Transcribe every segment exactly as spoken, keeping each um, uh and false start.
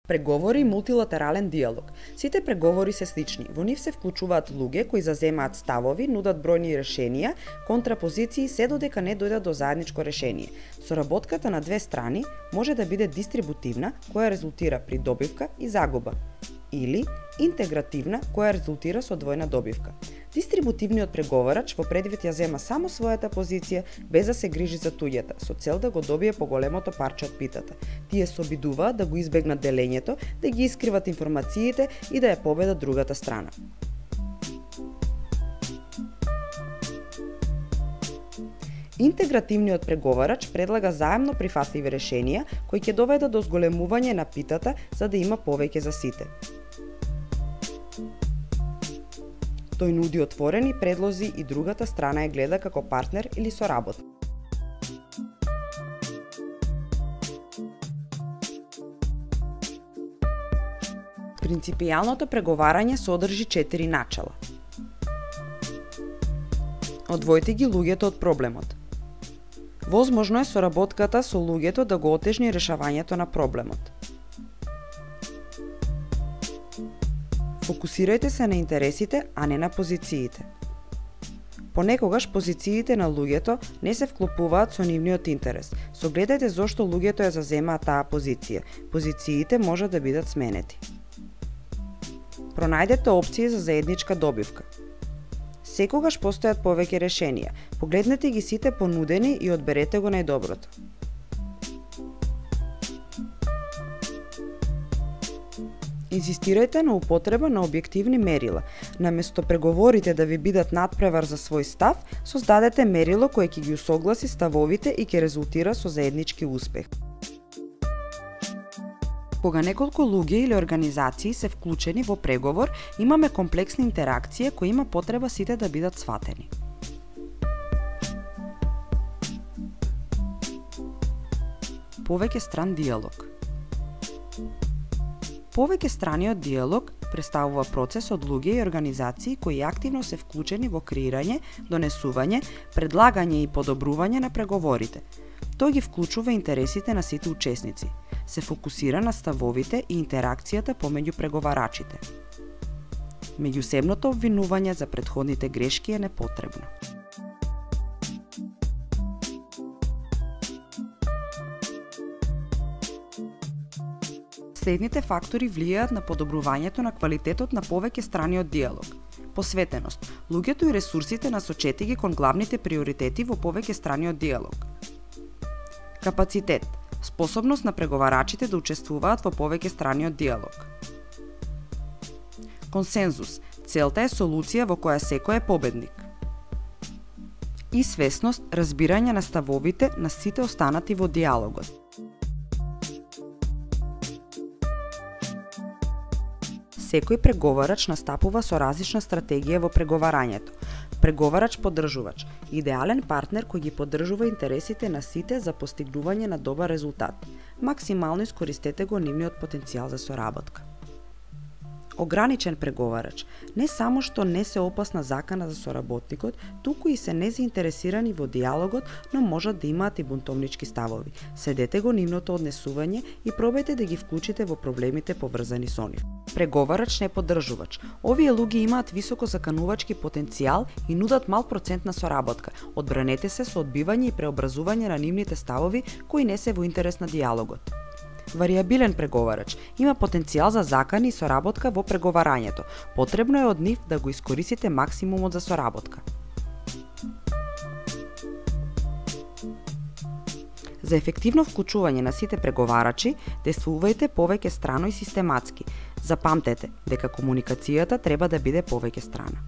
Преговори и мултилатерален диалог. Сите преговори се слични. Во нив се вклучуваат луѓе кои заземаат ставови, нудат бројни решенија, контрапозиции, се додека не дојдат до заедничко решение. Соработката на две страни може да биде дистрибутивна, која резултира при добивка и загуба, или интегративна, која резултира со двојна добивка. Дистрибутивниот преговарач во предвид ја зема само својата позиција без да се грижи за туѓата, со цел да го добие поголемото парче од питата. Тие се обидуваат да го избегнат делењето, да ги искриват информациите и да ја победат другата страна. Интегративниот преговарач предлага заемно прифатливи решенија кои ќе доведат до зголемување на питата за да има повеќе за сите. Тој нуди отворени предлози и другата страна ја гледа како партнер или соработник. Принципијалното преговарање содржи четири начала. Одвојте ги луѓето од проблемот. Возможно е соработката со луѓето да го отежни решавањето на проблемот. Фокусирајте се на интересите, а не на позициите. Понекогаш позициите на луѓето не се вклопуваат со нивниот интерес. Согледајте зошто луѓето ја заземаат таа позиција. Позициите може да бидат сменети. Пронајдете опции за заедничка добивка. Секогаш постојат повеќе решенија. Погледнете ги сите понудени и одберете го најдоброто. Инсистирајте на употреба на објективни мерила. Наместо преговорите да ви бидат надпревар за свој став, создадете мерило кое ќе ги усогласи ставовите и ќе резултира со заеднички успех. Кога неколку луѓе или организации се вклучени во преговор, имаме комплексна интеракција која има потреба сите да бидат сватени. Повеќе стран диалог. Повеќе страниот диалог представува процес од луѓе и организации кои активно се вклучени во креирање, донесување, предлагање и подобрување на преговорите. Тој ги вклучува интересите на сите учесници. Се фокусира на ставовите и интеракцијата помеѓу преговарачите. Меѓусебното обвинување за претходните грешки е непотребно. Следните фактори влијаат на подобрувањето на квалитетот на повеќе страни од диалог. Посветеност. Луѓето и ресурсите насочети ги кон главните приоритети во повеќе страни од диалог. Капацитет. Способност на преговарачите да учествуваат во повеќе страни од диалог. Консензус. Целта е солуција во која секој е победник. И свесност, разбирање на ставовите на сите останати во диалогот. Секој преговарач настапува со различна стратегија во преговарањето. Преговарач-поддржувач – идеален партнер кој ги поддржува интересите на сите за постигнување на добар резултат. Максимално искористете го нивниот потенцијал за соработка. Ограничен преговарач – не само што не се опасна закана за соработникот, туку и се незаинтересирани во диалогот, но можат да имаат и бунтовнички ставови. Следете го нивното однесување и пробајте да ги вклучите во проблемите поврзани со нив. Преговарач не поддржувач. Овие луѓе имаат високо заканувачки потенцијал и нудат мал процент на соработка. Одбранете се со одбивање и преобразување на нивните ставови кои не се во интерес на диалогот. Варијабилен преговарач има потенцијал за закани и соработка во преговарањето. Потребно е од нив да го искористите максимумот за соработка. За ефективно вклучување на сите преговарачи, действувајте повеќе страно и систематски. Запамтете дека комуникацијата треба да биде повеќе страна.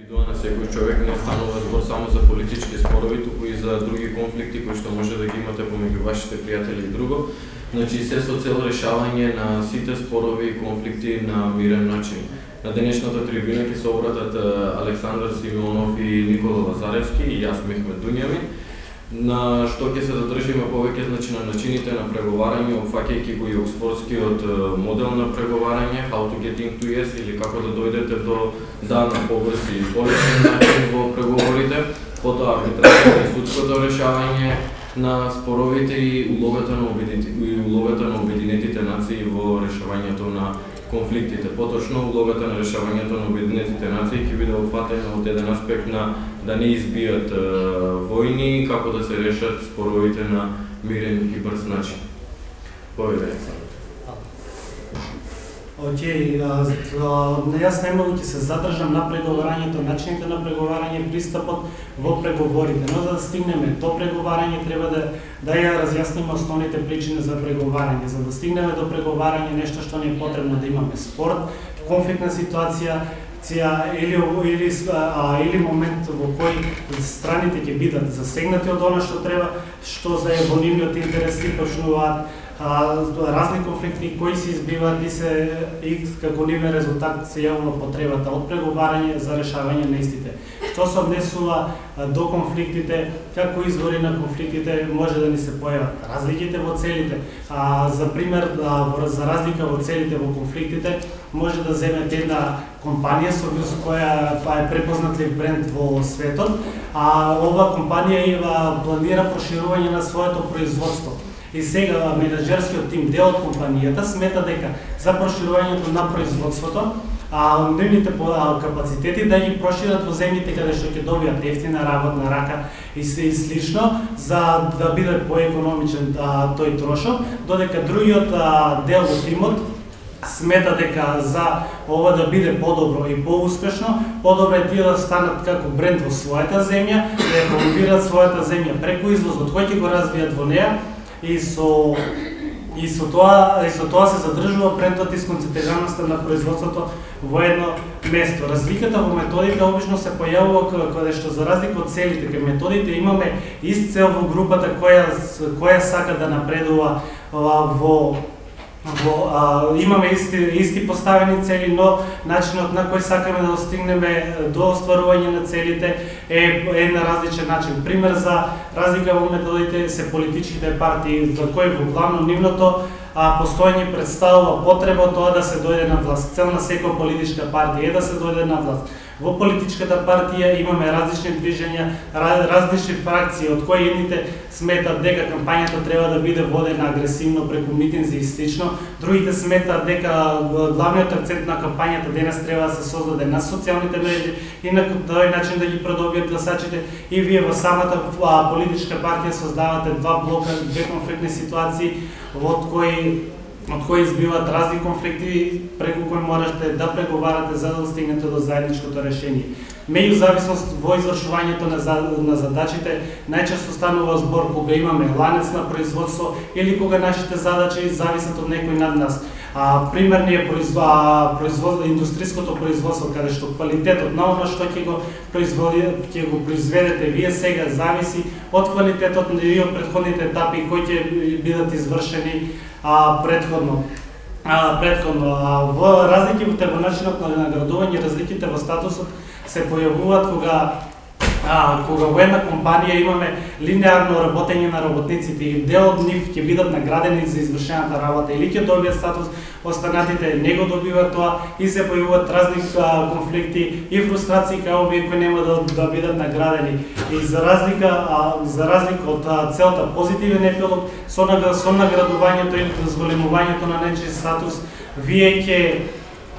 На секој човек не станува збор само за политички спорови, туку и за други конфликти кои што може да ги имате помеѓу вашите пријатели и друго. Значи се со цел решавање на сите спорови и конфликти на мирен начин. На денешната трибуна ќе се обратат Александар Симеонов и Никола Лазаревски и јас Мехмет Дуњави, на што ќе се задржиме повеќе значи на начините на преговарање, опфаќајќи го и оксфордскиот модел на преговарање, how to get into yes, или како да дојдете до да на побрз и полесен начин во преговорите, потоа арбитражата и судското решавање, на споровите и улогата на обединетите, и улогата на обединетите нации во решавањето на конфликтите. Поточно, улогата на решавањето на обединетите нации ќе биде опфатена од еден аспект на да не избијат е, војни, како да се решат споровите на мирен и брз начин. Поведајте. Океј, јас најмногу ќе се задржам на преговарањето, начините на преговарање, пристапот во преговорите. Но за да стигнеме до преговарање треба да да ја разјасниме основните причини за преговарање. За да стигнеме до преговарање, нешто што ни е потребно да имаме спорт, конфликтна ситуација, или или а, или момент во кој страните ќе бидат засегнати од она што треба, што за во нивниот интерес и почнуваат а, разни конфликти кои се избиваат и се и како нивен резултат се јавува потребата од преговарање за решавање на истите. Што се однесува до конфликтите, како извори на конфликтите може да ни се појават разликите во целите. А, за пример, а, за разлика во целите во конфликтите, може да земете една компанија со која па е препознатлив бренд во светот, а ова компанија има планира проширување на своето производство. И сега менаџерскиот тим, дел од компанијата, смета дека за проширувањето на производството, а нивните капацитети да ги прошират во земјите каде што ќе добијат ефтина работна рака и се и слично, за да биде поекономичен а, тој трошок, додека другиот а, дел од тимот смета дека за ова да биде подобро и поуспешно, подобро е тие да станат како бренд во својата земја, да ја промовираат својата земја преку извозот, кој ќе го развијат во неа и со и со тоа и со тоа се задржува брендот и сконцентрираноста на производството во едно место. Разликата во методите обично се појавува каде што за разлика од целите, кај методите имаме ист цел во групата која која сака да напредува во Во, а, имаме исти, исти поставени цели, но начинот на кој сакаме да достигнеме до остварување на целите е една различен начин. Пример за разлика во методите се политичките партии, за кои во главно нивното а, постојање представува потреба тоа да се дојде на власт. Цел на секоја политичка партија е да се дојде на власт. Во политичката партија имаме различни движења, различни фракции, од кои едните сметат дека кампањата треба да биде водена агресивно преку митинзи и слично, другите сметат дека главниот акцент на кампањата денес треба да се создаде на социјалните мрежи и на тој начин да ги продобијат гласачите. И вие во самата политичка партија создавате два блока, две конфликтни ситуации, од кои од кои избиваат разни конфликти преку кои можете да преговарате за да достигнете до заедничкото решение. Меѓу зависност во извршувањето на, на задачите најчесто станува збор кога имаме ланец на производство или кога нашите задачи зависат од некој над нас. А, примерни е производ, индустриското производство, каде што квалитетот на оно што ќе го производи, ќе го произведете вие сега зависи од квалитетот и од претходните етапи кои ќе бидат извршени а, предходно. А, предходно а, во разликите во начинот на наградување, разликите во статусот се појавуваат кога А, кога во една компанија имаме линеарно работење на работниците и дел од нив ќе бидат наградени за извршената работа или ќе добијат статус, останатите не го добиваат тоа и се појавуваат разни а, конфликти и фрустрации као овие кои нема да, да бидат наградени. И за разлика а, за разлика од а, целта позитивен епилог со, со наградувањето или дозволемувањето на нечи статус, вие ќе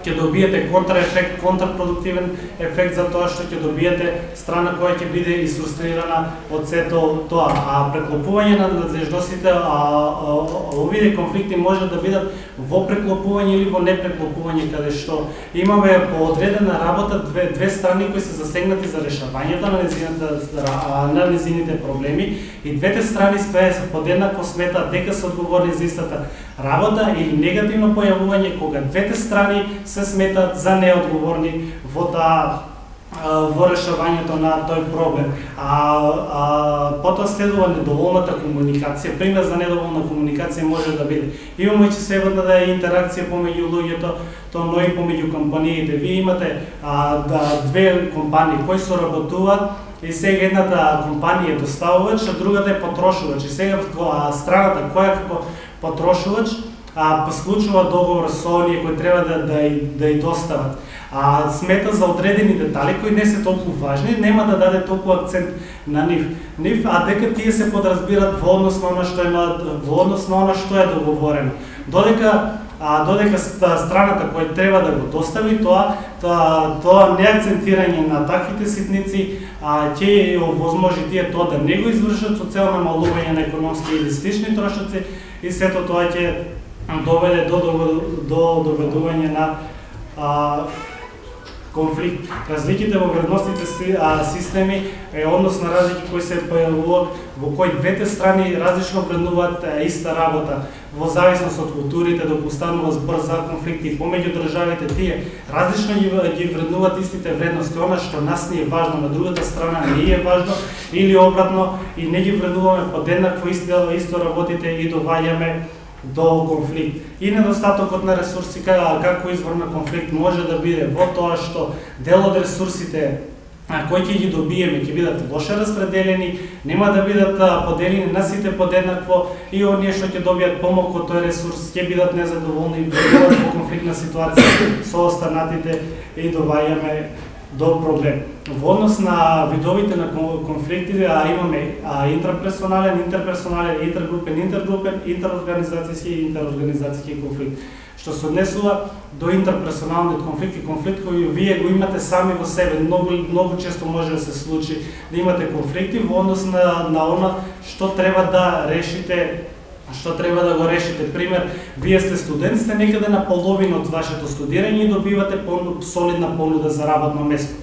ќе добиете контраефект, контрпродуктивен ефект за тоа што ќе добиете страна која ќе биде изфрустрирана од сето тоа. А преклопување на надлежностите, а, а, овие конфликти може да бидат во преклопување или во непреклопување, каде што имаме по одредена работа две, две страни кои се засегнати за решавањето на незината, на незините проблеми и двете страни се подеднакво сметаат дека се одговорни за истата работа или негативно појавување кога двете страни се сметат за неодговорни во таа во решавањето на тој проблем. А, а потоа следува недоволната комуникација. Пример за недоволна комуникација може да биде имаме чесебата да е интеракција помеѓу луѓето, тоа но и помеѓу компаниите. Вие имате а, да, две компании кои соработуваат и сега едната компанија е доставувач, а другата е потрошувач. И сега страната која како потрошувач а, склучува договор со оние кои треба да да и, да и достават. А смета за одредени детали кои не се толку важни, нема да даде толку акцент на нив. Нив, а дека тие се подразбират во однос на она што е во однос на она што е договорено. Додека а додека страната која треба да го достави тоа, тоа, тоа не акцентирање на таквите ситници, а ќе овозможи тие тоа да не го извршат со цел намалување на економски или слични трошоци и сето тоа ќе доведе до до доведување на а, конфликт. Разликите во вредностните системи е однос на разлики кои се појавуваат во кои двете страни различно вреднуваат иста работа. Во зависност од културите допустанува збор за конфликти помеѓу државите, тие различно ги, ги вреднуваат истите вредности. Она што нас ни е важно, на другата страна не е важно или обратно и не ги вреднуваме подеднакво исто, исто работите и доваѓаме до конфликт. И недостатокот на ресурси како извор на конфликт може да биде во тоа што дел од ресурсите кои ќе ги добиеме ќе бидат лоше распределени, нема да бидат поделени на сите подеднакво и оние што ќе добијат помалку од тој ресурс ќе бидат незадоволни и бидат во конфликтна ситуација со останатите и доваѓаме до проблем. Во однос на видовите на конфликти а имаме а, интраперсонален, интерперсонален, интергрупен, интергрупен, интерорганизацијски и интерорганизацијски конфликт. Што се однесува до интерперсоналниот конфликт и конфликт кој вие го имате сами во себе, многу многу често може да се случи да имате конфликти во однос на на она што треба да решите, што треба да го решите. Пример, вие сте студент, сте некаде на половина од вашето студирање и добивате солидна понуда за работно место.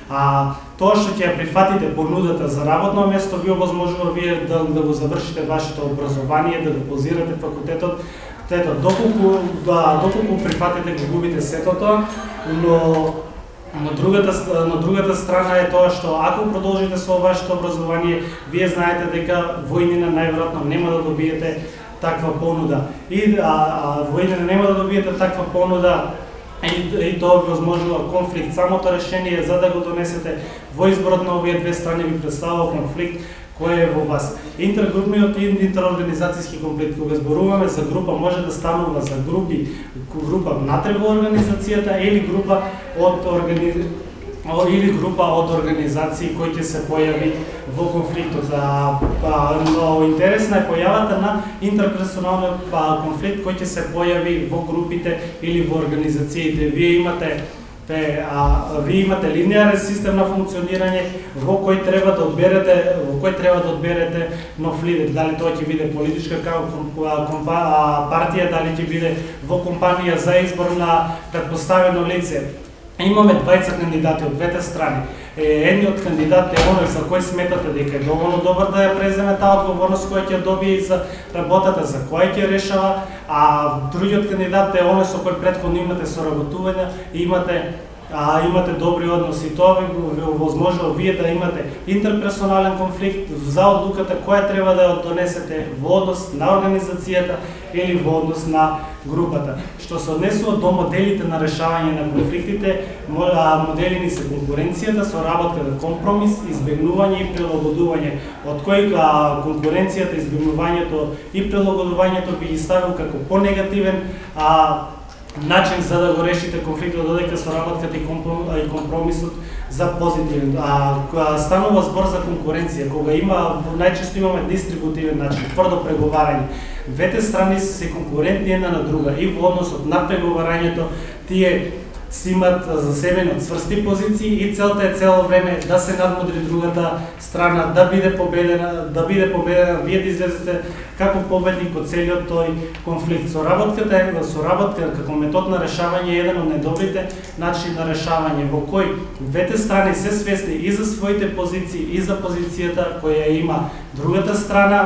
А тоа што ќе ја прифатите понудата за работно место ви овозможува вие да, да го завршите вашето образование, да го позирате факултетот. Тето, доколку, да, доколку прифатите го губите сето тоа, но на другата, на другата страна е тоа што ако продолжите со вашето образование, вие знаете дека во иднина најверојатно нема да добиете таква понуда. И а, а, во иднина нема да добиете таква понуда и, и тоа ви возможува конфликт. Самото решение за да го донесете во изборот на овие две страни ви представува конфликт кој е во вас. Интергрупниот и интерорганизацијски конфликт, кога зборуваме за група, може да станува за групи, група внатре во организацијата или група од органи... или група од организации кои ќе се појави во конфликтот. А, а, но интересна е појавата на интерперсоналниот конфликт кој ќе се појави во групите или во организациите. Вие имате Те, а, вие имате линеарен систем на функционирање во кој треба да одберете, во кој треба да одберете нов лидер, дали тоа ќе биде политичка партија, дали ќе биде во компанија за избор на претпоставено лице. Имаме двајца кандидати од двете страни. Едниот кандидат е оној за кој сметате дека е доволно добар да ја преземе таа одговорност која ќе добие и за работата за која ќе решава, а другиот кандидат е оној со кој претходно имате соработување и имате а имате добри односи. Тоа ви ви овозможува вие да имате интерперсонален конфликт за одлуката која треба да ја донесете во однос на организацијата или во однос на групата. Што се однесува до моделите на решавање на конфликтите, моделини се конкуренцијата, соработката, компромис, избегнување и прилагодување, од кој конкуренцијата, избегнувањето и прилагодувањето би ги ставил како понегативен а начин за да го решите конфликтот, додека соработката и компромисот за позитивен. А станува збор за конкуренција, кога има најчесто имаме дистрибутивен начин, тврдо преговарање. Двете страни се конкурентни една на друга и во односот на преговарањето тие си имат за себе цврсти позиции и целта е цело време да се надмудри другата страна, да биде победена, да биде победена, вие да излезете како победник од целиот тој конфликт. Соработката е соработка како метод на решавање е еден од најдобрите начини на решавање во кој двете страни се свесни и за своите позиции и за позицијата која има другата страна,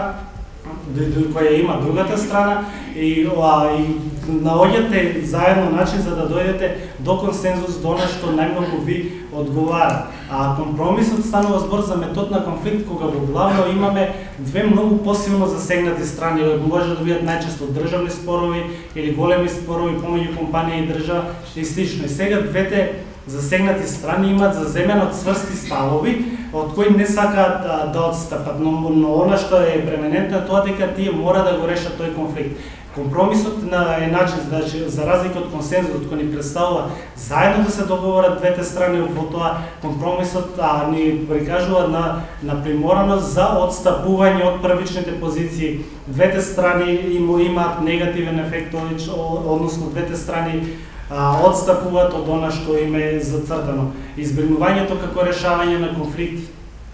која има другата страна и, а, и наоѓате заедно начин за да дојдете до консензус, до нешто најмногу ви одговара. А компромисот станува збор за метод на конфликт кога во главно имаме две многу посилно засегнати страни, може да бидат најчесто државни спорови или големи спорови помеѓу компанија и држава и слично. И сега двете засегнати страни имаат заземено цврсти ставови од кои не сакаат да, да одстапат, но, но она што е преминентно е тоа дека тие мора да го решат тој конфликт. Компромисот на е начин, значи, за разлика од консензусот кој ни представува заедно да се договорат двете страни во тоа, компромисот а, ни прикажува на, на примораност за отстапување од првичните позиции. Двете страни им, имаат негативен ефект, односно двете страни а, отстапуваат од она што им е зацртано. Избегнувањето како решавање на конфликт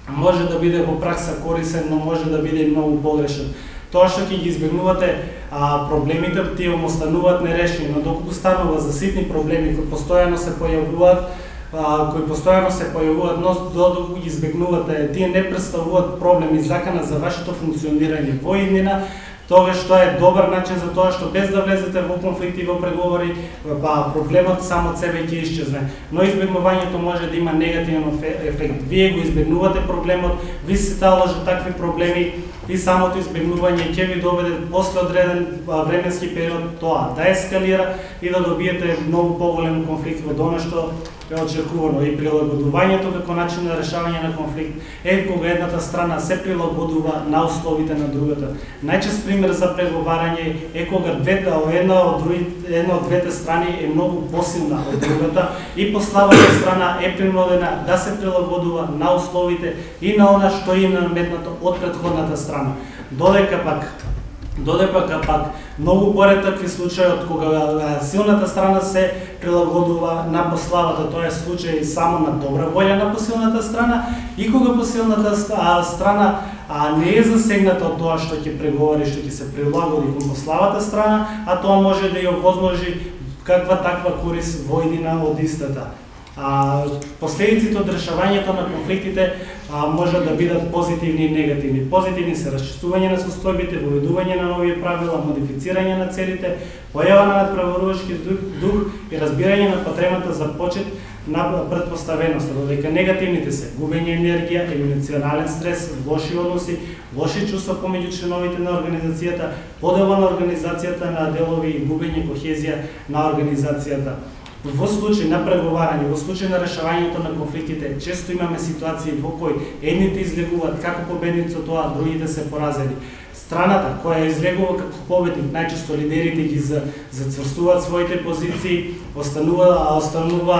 може да биде во пракса корисен, но може да биде и многу погрешен. Тоа што ќе ги избегнувате а, проблемите, тие му остануваат нерешени, но доколку станува за ситни проблеми кои постојано се појавуваат, а, кои постојано се појавуваат, но доколку ги избегнувате, тие не представуваат проблем и закана за вашето функционирање во иднина, тогаш тоа е добар начин за тоа што без да влезете во конфликти, во преговори, па проблемот само од себе ќе исчезне. Но избегнувањето може да има негативен ефект. Вие го избегнувате проблемот, ви се таложат такви проблеми и самото избегнување ќе ви доведе после одреден временски период тоа да ескалира и да добиете многу поголем конфликт во она што е очекувано. И прилагодувањето како начин на решавање на конфликт е кога едната страна се прилагодува на условите на другата. Најчест пример за преговарање е кога двете, една од другите, една од двете страни е многу посилна од другата и послабата страна е принудена да се прилагодува на условите и на она што им е наметнато од претходната страна. Додека пак Додека пак многу поретакви случаи од кога силната страна се прилагодува на послабата, тоа е случај само на добра волја на посилната страна и кога посилната страна а не е засегната од тоа што ќе преговори, што ќе се прилагоди кон послабата страна, а тоа може да ја овозможи каква таква корис во иднина од истата. А, последиците од решавањето на конфликтите а, може да бидат позитивни и негативни. Позитивни се расчистување на состојбите, воведување на нови правила, модифицирање на целите, појава на надпреварувачки дух, дух и разбирање на потребата за почет на предпоставеност, додека негативните се губење енергија, емоционален стрес, лоши односи, лоши чувства помеѓу членовите на организацијата, подела на организацијата на делови и губење кохезија на организацијата. Во случај на преговарање, во случај на решавањето на конфликтите, често имаме ситуации во кои едните излегуваат како победници од тоа, другите се поразени. Страната која излегува како победник, најчесто лидерите ги зацврстуваат своите позиции, останува, останува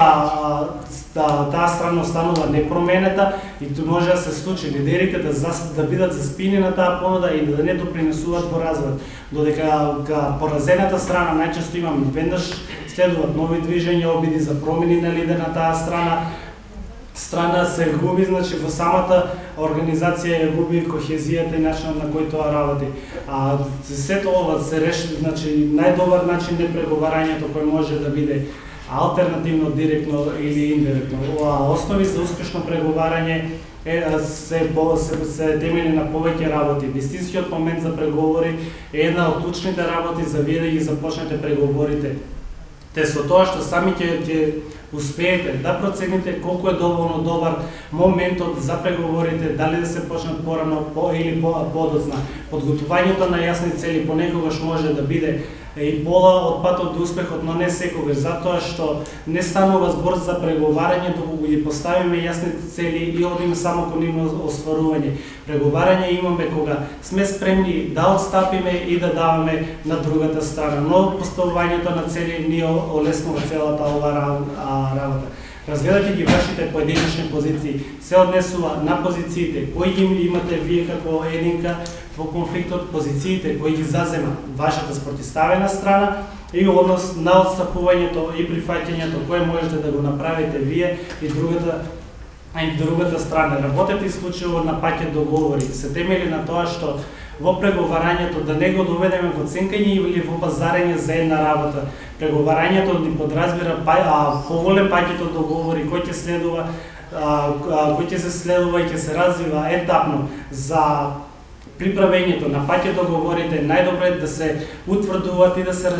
таа страна останува непроменета и тоа може да се случи лидерите да, зас, да бидат заспини на таа понуда и да не допринесуваат во развојот. Додека поразената страна најчесто имаме веднаш следуваат нови движења, обиди за промени на лидер на таа страна, страна се губи, значи во самата организација ја губи кохезијата и начинот на кој тоа работи. А сето ова се реши, значи најдобар начин на преговарањето кој може да биде алтернативно, директно или индиректно. Основи за успешно преговарање е, се, се, се темели на повеќе работи. Вистинскиот момент за преговори е една од клучните работи за вие да ги започнете преговорите. Те со тоа што сами ќе ќе успеете да процените колку е доволно добар моментот за преговорите, дали да се почнат порано по, или по, подоцна. Подготувањето на јасни цели понекогаш може да биде и пола од патот до успехот, но не секогаш, затоа што не станува збор за преговарање, доколку ги поставиме јасни цели и одиме само кон нивно остварување. Преговарање имаме кога сме спремни да отстапиме и да даваме на другата страна, но поставувањето на цели ни олеснува целата ова работа. Разгледате ги вашите поединечни позиции, се однесува на позициите кои ги имате вие како единка во конфликтот, позициите кои ги зазема вашата спротивставена страна и однос на отстапувањето и прифаќањето кое можете да го направите вие и другата и другата страна. Работете исклучиво на пакет договори, се темели на тоа што во преговарањето да не го доведеме во ценкање или во пазарење за една работа. Преговарањето ни подразбира а, поголем пакет од договори кој ќе следува, а, кој ќе се следува и ќе се развива етапно за приправењето на пакет договорите. Најдобро е да се утврдуваат и да се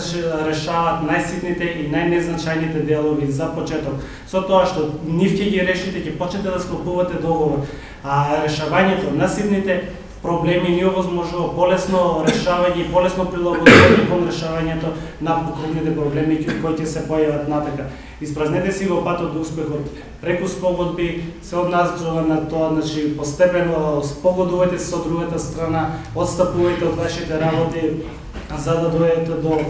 решаваат најситните и најнезначајните делови за почеток. Со тоа што нив ќе ги решите, ќе почнете да склопувате договор. А решавањето на ситните проблеми ни овозможува полесно решавање и полесно прилагодување кон решавањето на крупните проблеми кои ќе се појават натака. Испразнете си го патот до успехот преку спогодби, се однесува на тоа, значи постепено спогодувајте се со другата страна, отстапувајте од вашите работи за да дојдете до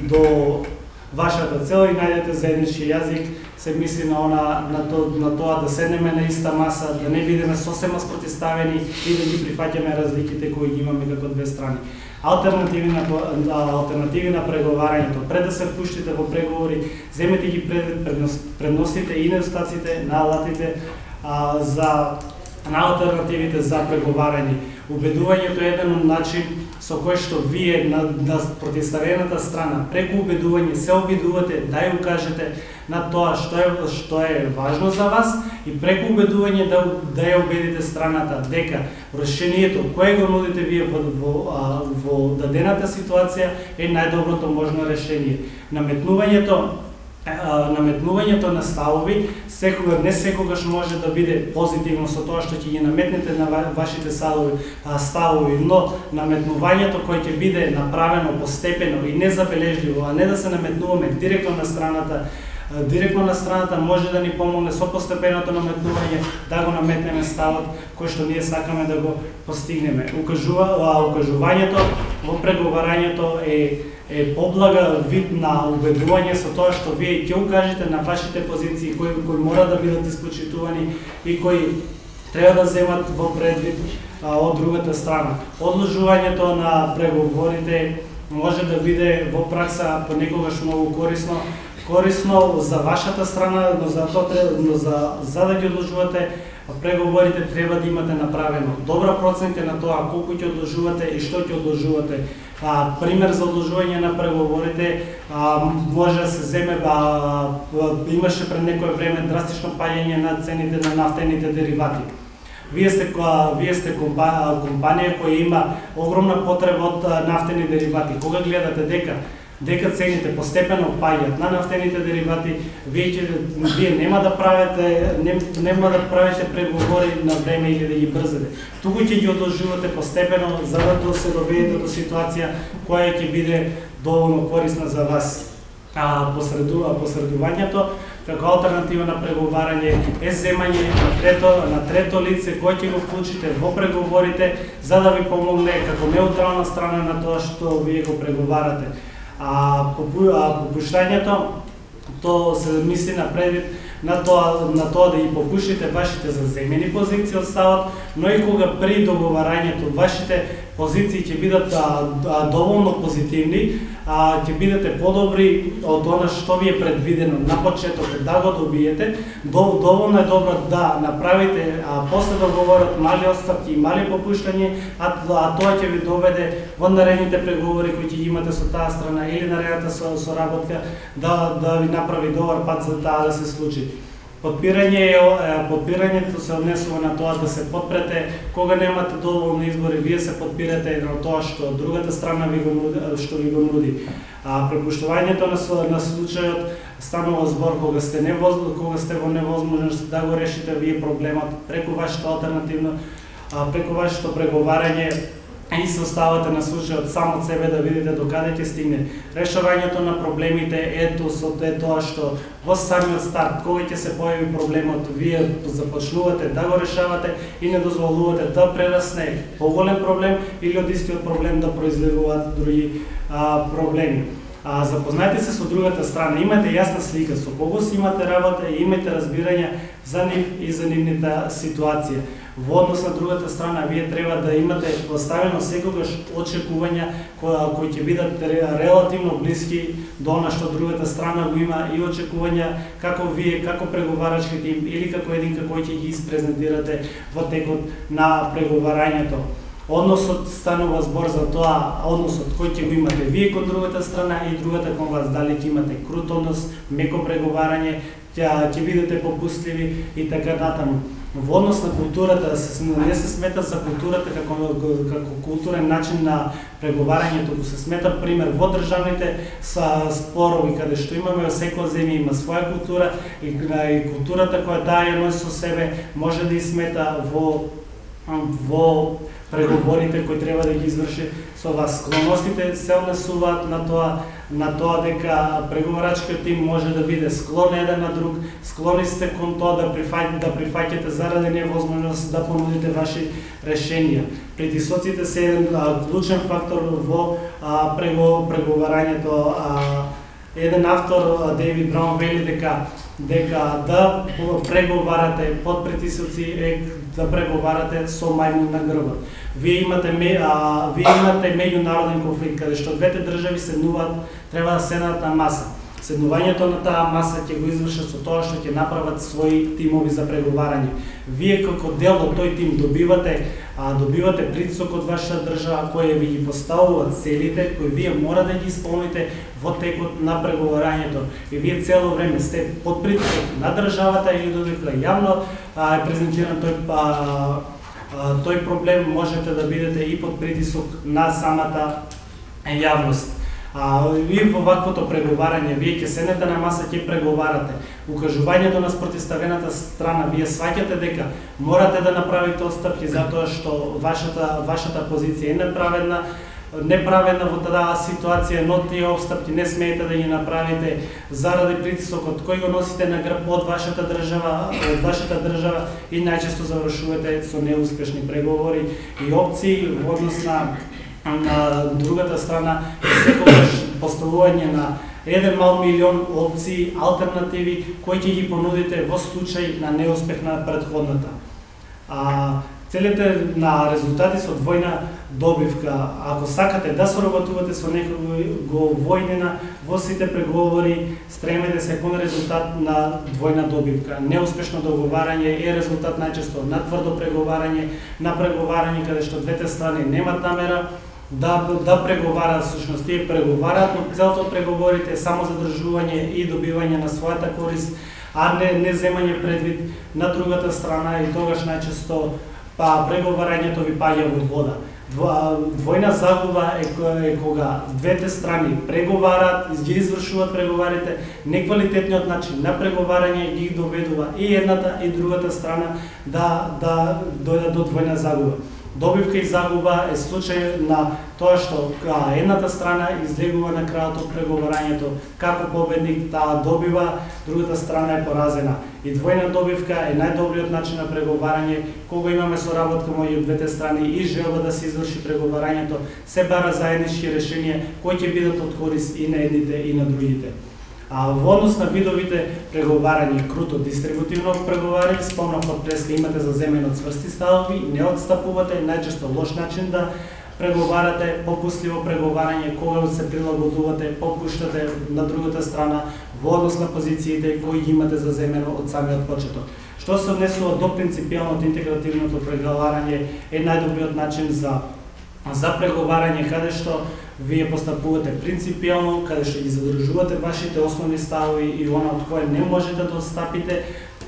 до вашата цел и најдете заеднички јазик. Се мисли на она на, то, на тоа да седнеме на иста маса, да не бидеме сосема спротивставени и да ги прифаќаме разликите кои ги имаме како две страни. Алтернативи на алтернативи на преговарањето. Пред да се впуштите во преговори, земете ги пред предносите и недостатците на алатите а, за на алтернативите за преговарање. Убедувањето е еден начин со кој што вие на, на противставената страна преку убедување се обидувате да ја укажете на тоа што е што е важно за вас и преку убедување да да ја убедите страната дека решението кое го нудите вие во во, во дадената ситуација е најдоброто можно решение. Наметнувањето наметнувањето на ставови секогаш не секогаш може да биде позитивно со тоа што ќе ги наметнете на вашите ставови, ставови, но наметнувањето кој ќе биде направено постепено и незабележливо, а не да се наметнуваме директно на страната, директно на страната може да ни помогне со постепеното наметнување да го наметнеме ставот кој што ние сакаме да го постигнеме. Укажува, укажувањето во преговарањето е е поблага вид на убедување со тоа што вие ќе укажете на вашите позиции кои кои мора да бидат испочитувани и кои треба да земат во предвид а, од другата страна. Одложувањето на преговорите може да биде во пракса понекогаш многу корисно, корисно за вашата страна, но за тоа треба, но за за да ги одложувате преговорите треба да имате направено добра проценка на тоа колку ќе одложувате и што ќе одложувате. А, пример за одложување на преговорите а, може да се земе, а, имаше пред некое време драстично паѓање на цените на нафтените деривати. Вие сте, а, вие сте компанија, компанија која има огромна потреба од нафтени деривати. Кога гледате дека дека цените постепено паѓаат на нафтените деривати, вие, ќе, вие нема да правите не, нема да правите преговори на време или да ги брзате. Туку ќе ги одложувате постепено за да се доведете до ситуација која ќе биде доволно корисна за вас. А посреду, посредувањето како алтернатива на преговарање е земање на трето на трето лице кој ќе го вклучите во преговорите за да ви помогне како неутрална страна на тоа што вие го преговарате. А попуштањето то се мисли на предвид на тоа на тоа да ги попуштите вашите заземени позиции од ставот, но и кога при договарањето вашите позиции ќе бидат а, а, доволно позитивни, а, ќе бидете подобри од она што ви е предвидено на почетокот да го добиете, доволно е добро да направите а, после договорот мали отстапки и мали попуштање, а, а тоа ќе ви доведе во наредните преговори кои ќе имате со таа страна или наредната со, соработка да да ви направи добар пат за таа да се случи. Подпирање е подпирањето се однесува на тоа да се подпрете кога немате доволно избори, вие се подпирате на тоа што другата страна ви го нуди, што ви го нуди. А препуштувањето на на случајот станува збор кога сте невоз, кога сте во невозможност да го решите вие проблемот преку вашето алтернативно преку вашето преговарање и се оставате на случајот само од себе да видите докаде ќе стигне. Решавањето на проблемите ето со тоа што во самиот старт кога ќе се појави проблемот, вие започнувате да го решавате и не дозволувате да прерасне поголем проблем или од истиот проблем да произлегуваат други а, проблеми. А, запознајте се со другата страна, имате јасна слика со кого си имате работа и имате разбирање за нив и за нивната ситуација. Во однос на другата страна, вие треба да имате поставено секогаш очекувања кои, кои ќе бидат релативно блиски до она што другата страна го има и очекувања како вие, како преговарачки тим или како единка кој ќе ги испрезентирате во текот на преговарањето. Односот станува збор за тоа, односот кој ќе го имате вие кон другата страна и другата кон вас, дали ќе имате крут однос, меко преговарање, ќе бидете попустливи и така натаму. Во однос на културата, не се смета за културата како, како културен начин на преговарање, туку се смета пример во државните спорови, каде што имаме секоја земја има своја култура и, и културата која таа ја носи со себе може да и смета во во преговорите кои треба да ги изврши со вас. Склоностите се однесуваат на тоа на тоа дека преговорачкиот тим може да биде склон еден на друг, склони сте кон тоа да прифаќате да прифаќате заради невозможност да понудите ваши решенија. Притисоците се еден а, клучен фактор во а, прего, преговарањето. А, еден автор, Дейвид Браун, вели дека дека да преговарате под притисоци е да преговарате со мајмун на грбот. Вие имате а, вие имате меѓународен конфликт каде што двете држави седнуваат, треба да седнат на маса. Седнувањето на таа маса ќе го извршат со тоа што ќе направат своји тимови за преговарање. Вие како дел од тој тим добивате а, добивате притисок од вашата држава која ви ги поставуваат целите кои вие мора да ги исполните во текот на преговарањето. И вие цело време сте под притисок на државата или додека јавно а, е презентиран тој а, а, тој проблем, можете да бидете и под притисок на самата јавност. А, и во ваквото преговарање, вие ќе седнете на маса, ќе преговарате. Укажувањето на спротивставената страна, вие сваќате дека морате да направите отстапки затоа што вашата вашата позиција е неправедна, неправедна во таа ситуација, но тие отстапки не смеете да ги направите заради притисокот кој го носите на грб од вашата држава, од вашата држава и најчесто завршувате со неуспешни преговори и опции во однос на на другата страна, секогаш поставување на еден мал милион опции, алтернативи кои ќе ги понудите во случај на неуспех на претходната. А целите на резултати со двојна добивка, ако сакате да соработувате со некого војнена во сите преговори, стремете се кон резултат на двојна добивка. Неуспешно договарање е резултат најчесто на тврдо преговарање, на преговарање каде што двете страни немат намера да да преговараат, всушност тие преговараат, но целото од преговорите е само задржување и добивање на својата корист, а не не земање предвид на другата страна и тогаш најчесто па преговарањето ви паѓа во вода. Двојна загуба е, е кога двете страни преговараат, ги извршуваат преговарите, неквалитетниот начин на преговарање ги доведува и едната и другата страна да да дојдат до двојна загуба. Добивка и загуба е случај на тоа што едната страна излегува на крајот од преговарањето како победник, таа добива, другата страна е поразена. И двојна добивка е најдобриот начин на преговарање кога имаме соработка меѓу двете страни и желба да се изврши преговарањето, се бара заеднички решенија кои ќе бидат од корист и на едните и на другите. А во однос на видовите преговарање, круто дистрибутивно преговарање, спомнав од преска, имате заземено цврсти ставови, не отстапувате, најчесто лош начин да преговарате, попустливо преговарање, кога се прилагодувате, попуштате на другата страна во однос на позициите кои ги имате заземено од самиот почеток. Што се однесува до принципијалното интегративното преговарање е најдобриот начин за за преговарање каде што вие постапувате принципијално, каде што ги задржувате вашите основни ставови и она од кое не можете да отстапите,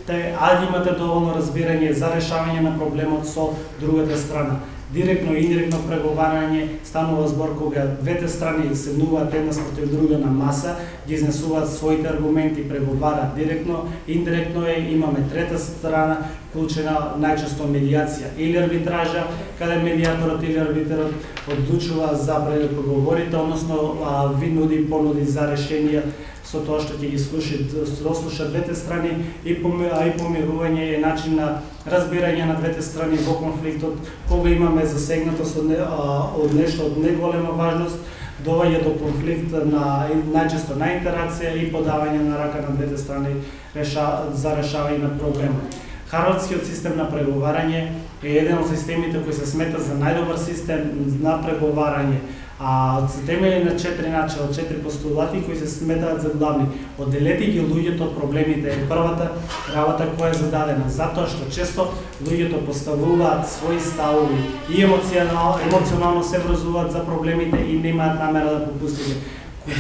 те, а имате доволно разбирање за решавање на проблемот со другата страна. Директно и индиректно преговарање станува збор кога двете страни седнуваат една спротив друга на маса, ги изнесуваат своите аргументи, преговараат директно, индиректно е, имаме трета страна, вклучена најчесто медијација или арбитража, каде медијаторот или арбитрот одлучува за преговорите, односно ви нуди понуди за решенија со тоа што ќе ги слуши, дослуша двете страни и помирување е начин на разбирање на двете страни во конфликтот, кога имаме засегнатост од, од нешто од неголема важност, доваѓа до конфликт на најчесто на интеракција и подавање на рака на двете страни реша, за решавање на проблемот. Харвардскиот систем на преговарање е еден од системите кои се смета за најдобар систем на преговарање. А се темели на четири начала, четири постулати кои се сметаат за главни. Одделете ги луѓето од проблемите е првата работа која е зададена, затоа што често луѓето поставуваат своји ставови и емоционално, емоционално се врзуваат за проблемите и немаат намера да попустите.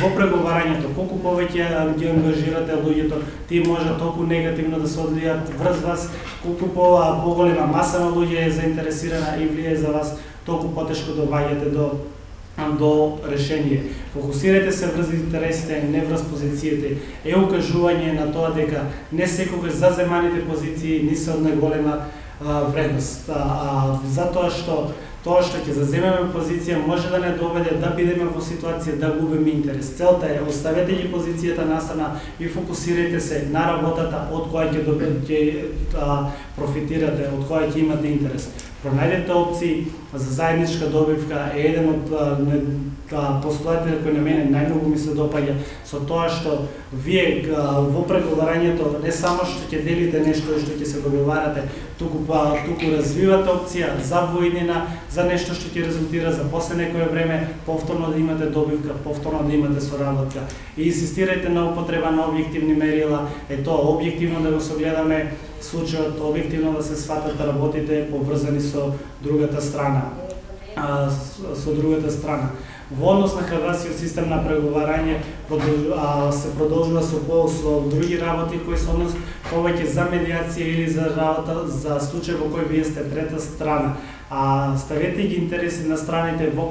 Во преговарањето, колку повеќе ги ангажирате луѓето, тие може толку негативно да се одлијат врз вас, колку по, поголема маса на луѓе е заинтересирана и влие за вас, толку потешко доаѓате до до решение. Фокусирате се врз интересите, не врз позициите. Е укажување на тоа дека не секогаш заземаните позиции не се од најголема вредност. А, а, затоа што тоа што ќе заземеме позиција може да не доведе да бидеме во ситуација да губиме интерес. Целта е оставете ги позицијата настрана и фокусирајте се на работата од која ќе добиете профитирате, од која ќе имате интерес. Пронајдете опции за заедничка добивка е еден од постулатите кои на мене најмногу ми се допаѓа со тоа што вие во преговарањето не само што ќе делите нешто што ќе се договарате, туку па туку развивате опција за воиднина, за нешто што ќе резултира за после некое време повторно да имате добивка, повторно да имате соработка. И инсистирајте на употреба на објективни мерила, е тоа објективно да го согледаме случајот, објективно да се сватат работите поврзани со другата страна. А, со другата страна. Во однос на хрватскиот систем на преговарање се продолжува со со други работи кои се однос повеќе за медиација или за работа за случај во кој вие сте трета страна. А ставете ги интереси на страните во,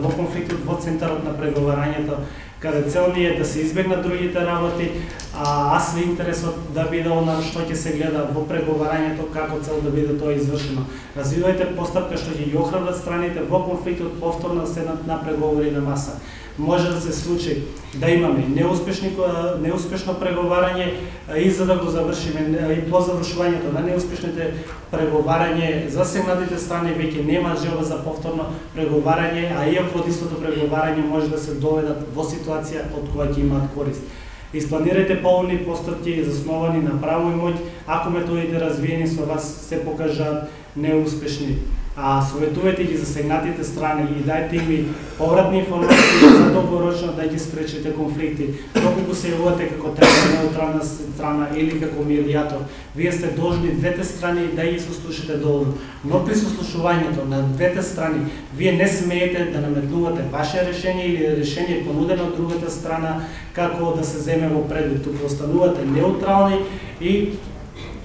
во конфликтот во центарот на преговарањето, каде цел ни е да се избегнат другите работи, а аз ли интересот да биде она што ќе се гледа во преговарањето, како цел да биде тоа извршено. Развивајте постапка што ќе ги охрабрат страните во конфликтот повторно да седнат на преговори на маса. Може да се случи да имаме неуспешни неуспешно преговарање и за да го завршиме и по завршувањето на неуспешните преговарање засегнатите страни веќе нема желба за повторно преговарање, а иако од истото преговарање може да се доведат во ситуација од која ќе имаат корист. Испланирајте полни постапки засновани на право и моќ, ако методите развиени со вас се покажаат неуспешни. А советувајте ги засегнатите страни и дајте им повратни информации за долгорочно да ги спречите конфликти. Доколку се јавувате како трета неутрална страна или како медијатор, вие сте должни двете страни да ги сослушате доволно. Но при сослушувањето на двете страни, вие не смеете да наметнувате ваше решение или решение понудено од другата страна како да се земе во предвид. Туку останувате неутрални и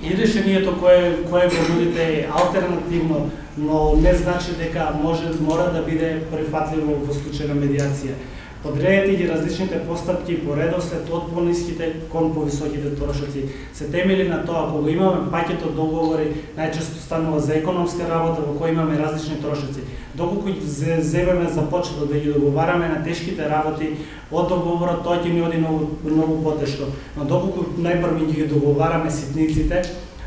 и решението кое кое го нудите е алтернативно, но не значи дека може мора да биде прифатливо во случај на медиација. Подредете ги различните постапки по редослед од пониските кон повисоките трошоци. Се темели на тоа, кога имаме пакет од договори, најчесто станува за економска работа во која имаме различни трошоци. Доколку земеме за почеток да ги договараме на тешките работи од договорот, тоа ќе ни оди многу, многу потешко. Но доколку најпрво ги договараме ситниците,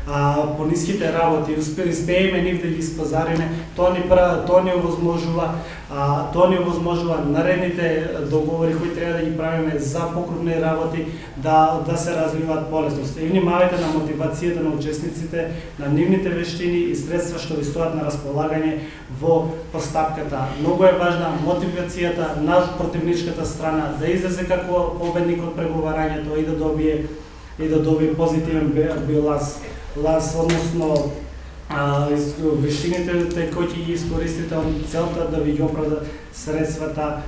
а по ниските работи успееме нив да ги испазариме, тоа ни прави, тоа ни овозможува, а тоа ни овозможува наредните договори кои треба да ги правиме за покрупни работи да да се развиваат полесно. И внимавајте на мотивацијата на учесниците, на нивните вештини и средства што ви стојат на располагање во постапката. Многу е важна мотивацијата на противничката страна да излезе како победник од преговарањето и да добие и да добие позитивен биланс. Лас, односно вештините кои ќе ги искористите од целта да ви ги оправда средствата,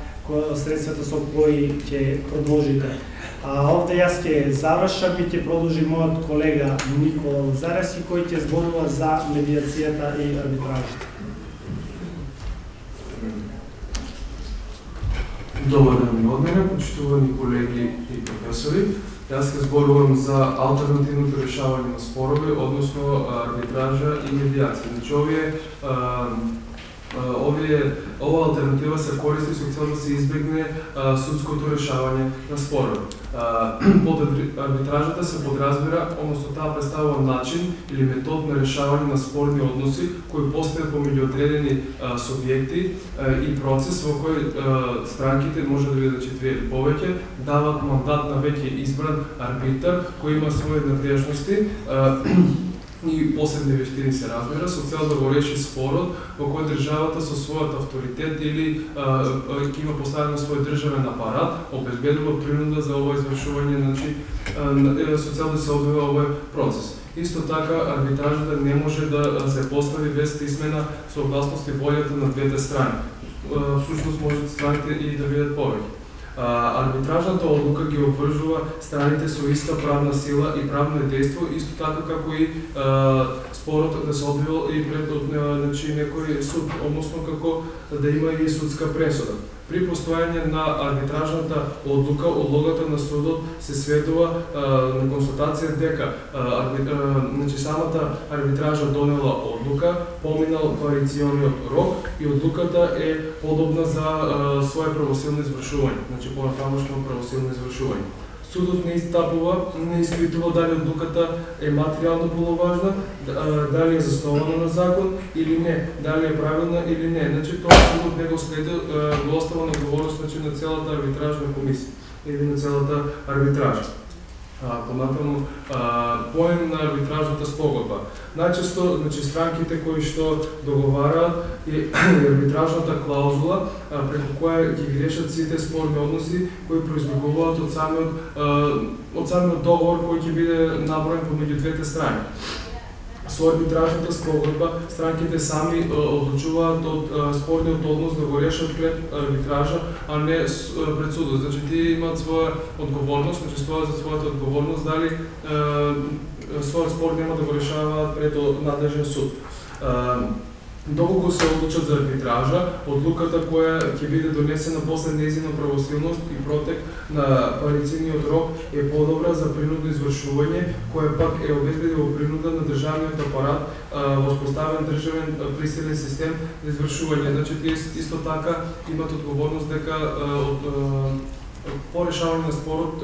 средствата со кои ќе продолжите. А овде јас ќе завршам и ќе продолжи мојот колега Никола Лазаревски кој ќе зборува за медиацијата и арбитражата. Добар ден од мене, почитувани колеги и професори. Јас ќе зборувам за алтернативното решавање на спорови, односно арбитража и медиација. Значи, овие, овие, ова алтернатива се користи со цел да се избегне судското решавање на спорови. Под арбитражата се подразбира, односно таа представува начин или метод на решавање на спорни односи кои постојат помеѓу одредени субјекти и процес во кој странките, може да бидат четири или повеќе, дават мандат на веќе избран арбитар кој има своји надежности и посебни вештини се разбира, со цел да го реши спорот во кој државата со својот авторитет или ќе има поставено свој државен апарат, обезбедува принуда за ова извршување, значи со цел да се одвива овој процес. Исто така, арбитражата не може да се постави без писмена согласност и волјата на двете страни. Всушност може страните и да бидат повеќе. Арбитражната одлука ги обвржува страните со иста правна сила и правно дејство, исто така како и спорот да се одвива и пред значи, некој суд, односно како да има и судска пресуда. При постојање на арбитражната одлука, одлогата на судот се сведува а, на констатација дека а, арби, а, значи, самата арбитража донела одлука, поминал парициониот рок и одлуката е подобна за а, свое правосилно извршување, значи понатамошно правосилно извршување. Судот не истапува, не испитува дали одлуката е материјално полноважна, дали е заснована на закон или не, дали е правилна или не. Значи тоа судот не го следи, го остава на одговорност, значи, на целата арбитражна комисија или на целата арбитража. Понатаму поем на арбитражната спогодба. Најчесто, значи, странките кои што договараат и арбитражната клаузула преку која ги грешат сите спорни односи кои произлегуваат од самиот од самиот договор кој ќе биде наброен помеѓу двете страни. Со арбитражната спогодба странките сами одлучуваат од спорниот однос да го решат пред арбитража, а не пред судот. Значи тие имаат своја одговорност, значи стојат за својата одговорност дали е, својот спор нема да го решаваат пред надлежен суд. Доколку се одлучат за арбитража, одлуката која ќе биде донесена после нејзина правосилност и протек на парициниот рок е подобра за принудно извршување, која пак е обезбедила принуда на државниот апарат, воспоставен државен присилен систем за извршување. Значи тие исто така имат одговорност дека од по решавање на спорот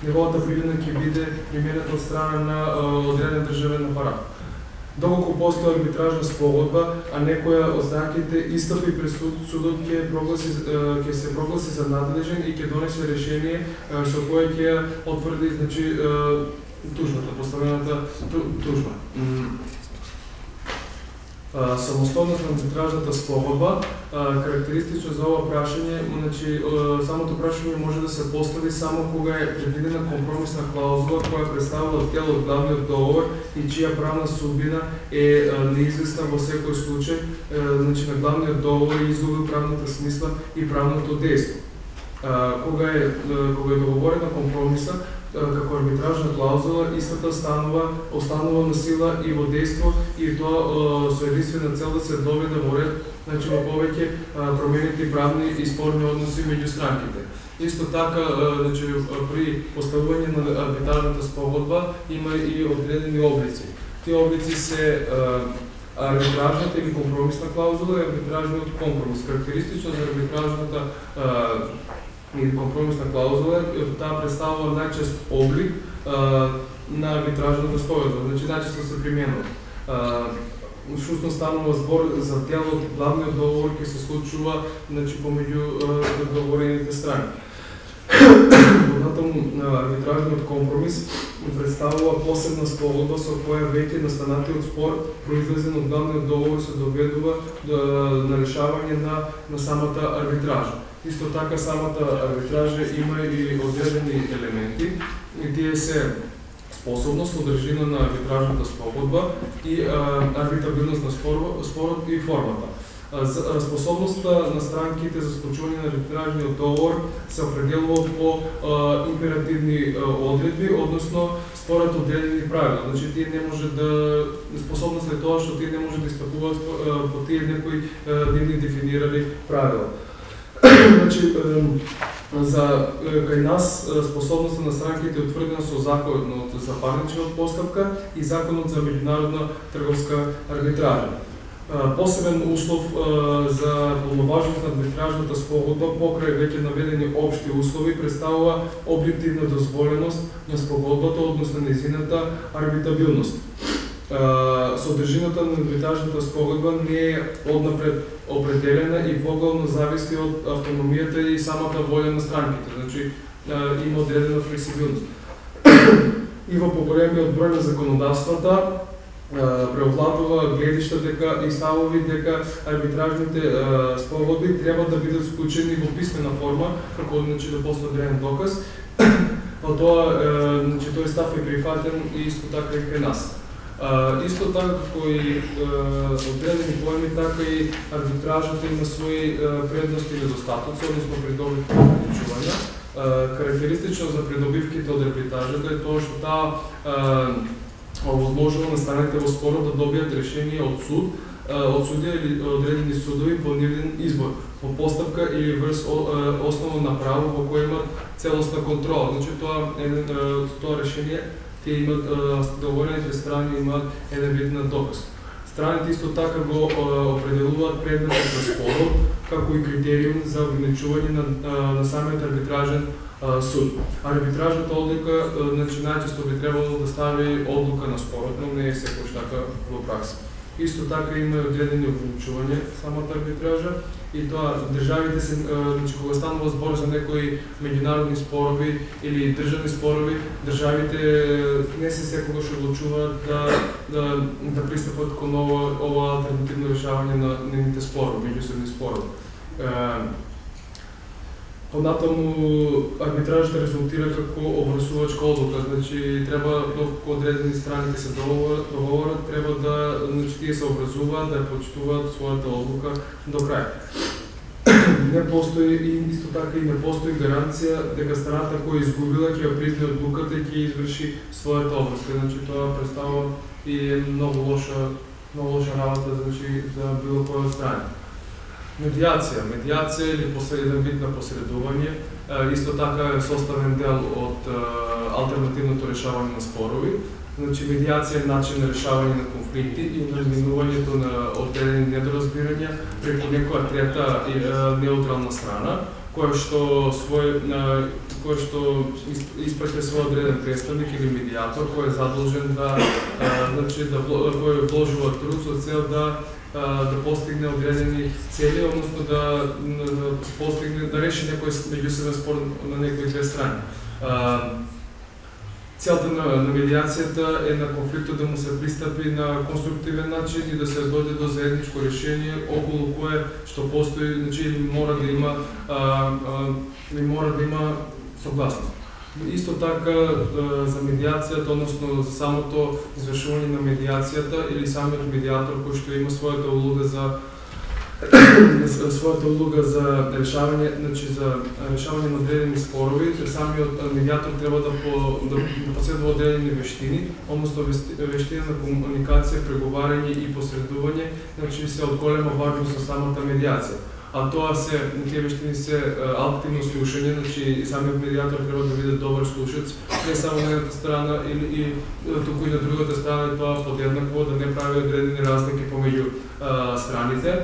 неговата примена ќе биде применета од страна на одреден државен апарат. Доколку постои арбитражна спогодба, а некоја од странките истапи пред судот ќе прогласи ќе се прогласи за надлежен и ќе донесе решение со кое ќе отврди, значи, тужбата, поставената тужба. Самостојност на арбитражната спогодба, карактеристично за ова прашање, значи, самото прашање може да се постави само кога е предвидена компромисна клаузула која представува дел од главниот договор и чија правна судбина е неизвестна во секој случај, значи на главниот договор е изгубил правната смисла и правното дејство. Кога е кога е договорена компромиса како арбитражна клаузула, истата станува останува на сила и во дејство и тоа со единствена цел да се доведе во ред, значи во повеќе променети правни и спорни односи меѓу странките. Исто така, значи, при поставување на арбитражната спогодба има и одредени облици. Тие облици се арбитражната или компромисна клаузула и арбитражниот компромис. Карактеристично за арбитражната или компромисна клаузула, таа представува најчест облик а, на арбитражната спогодба, значи најчесто се применува. Шусно станува збор за дел од главниот договор кој се случува, значи, помеѓу договорените страни. Понатаму арбитражниот компромис представува посебна спогодба со која веќе настанатиот спор произлезен од главниот договор се доведува до на решавање на на самата арбитража. Исто така самата арбитража има и одредени елементи и тие се способност, содржина на арбитражната спогодба и а, арбитабилност на спорот, спорот и формата. А, способноста на странките за склучување на арбитражниот договор се определува по а, императивни а, одредби, односно според одредени правила. Значи тие не може да способност е тоа што тие не може да истапуваат по тие некои нивни дефинирани правила. Значи, за кај нас способноста на странките е утврдена со законот за парничната постапка и законот за меѓународна трговска арбитража. Посебен услов за полноважност на арбитражната спогодба покрај веќе наведени општи услови представува објективна дозволеност на спогодбата, односно нејзината арбитабилност. Содржината на арбитражната спогодба не е однапред определена и поглавно зависи од автономијата и самата волја на странките. Значи, има одредена флексибилност. И во поголемиот број на законодавствата преовладува гледишта дека и ставови дека арбитражните спогодби треба да бидат склучени во писмена форма, како, значи, да после одреден доказ. Па тоа, значи, тој став е прифатен и исто така и кај нас. Uh, исто така како и uh, одредени поеми, така и арбитражата има своји uh, предности и недостатоци, односно придобивки и приклучувања. Uh, карактеристично за придобивките од арбитражата е тоа што таа uh, овозможува на страните во спорот да добијат решение од суд, uh, од судија или одредени судови по нивен избор. во постапка или врз основно право во кој има целосна контрола. Значи тоа е тоа решение тие имат договорените страни имаат еден вид на доказ. Страните исто така го определуваат предметот на спорот како и критериум за ограничување на, на самиот арбитражен суд. Арбитражната одлука, значи најчесто би требало да стави одлука на спорот, но не е секогаш така во пракса. Исто така има и одредени ограничувања самата арбитража и тоа државите се, значи кога станува збор за некои меѓународни спорови или државни спорови, државите не се секогаш одлучуваат да да да пристапат кон ова ова алтернативно решавање на нивните спорови, меѓусебни спорови. Понатаму арбитражата резултира како обврзувачка одлука, значи треба доколку одредени страните се договорат, треба да значи тие се обврзуваат да почитуваат својата одлука до крај. Не постои и исто така и не постои гаранција дека страната која изгубила ќе ја призна одлуката и ќе изврши својата обврска. Значи тоа представува и многу лоша многу лоша работа значи за било која од страни. Медиација. Медиација или посреден вид на посредување, исто така е составен дел од алтернативното решавање на спорови. Значи, медиација е начин на решавање на конфликти и на изминувањето на одредени недоразбирања преку некоја трета и неутрална страна, која што свој кој што испраќа свој одреден представник или медиатор кој е задолжен да значи да кој вложува труд со цел да да постигне одредени цели, односно да, да постигне да реши некој меѓусебен спор на некои две страни. Целта на, на медиацијата е на конфликтот да му се пристапи на конструктивен начин и да се дојде до заедничко решение околу кое што постои, значи мора да има а, а, мора да има согласност. Исто така за медиацијата, односно за самото извршување на медиацијата или самиот медиатор кој што има својата улога за својата улога за решавање, значи за решавање на одредени спорови, самиот медиатор треба да по да поседува одредени вештини, односно вештина на комуникација, преговарање и посредување, значи се од голема важност за самата медиација. А тоа се, тие вештини се активно слушање, значи самиот медиатор треба да биде добар слушаец, не само на едната страна или и туку и на другата страна, тоа подеднакво да не прави одредени разлики помеѓу страните,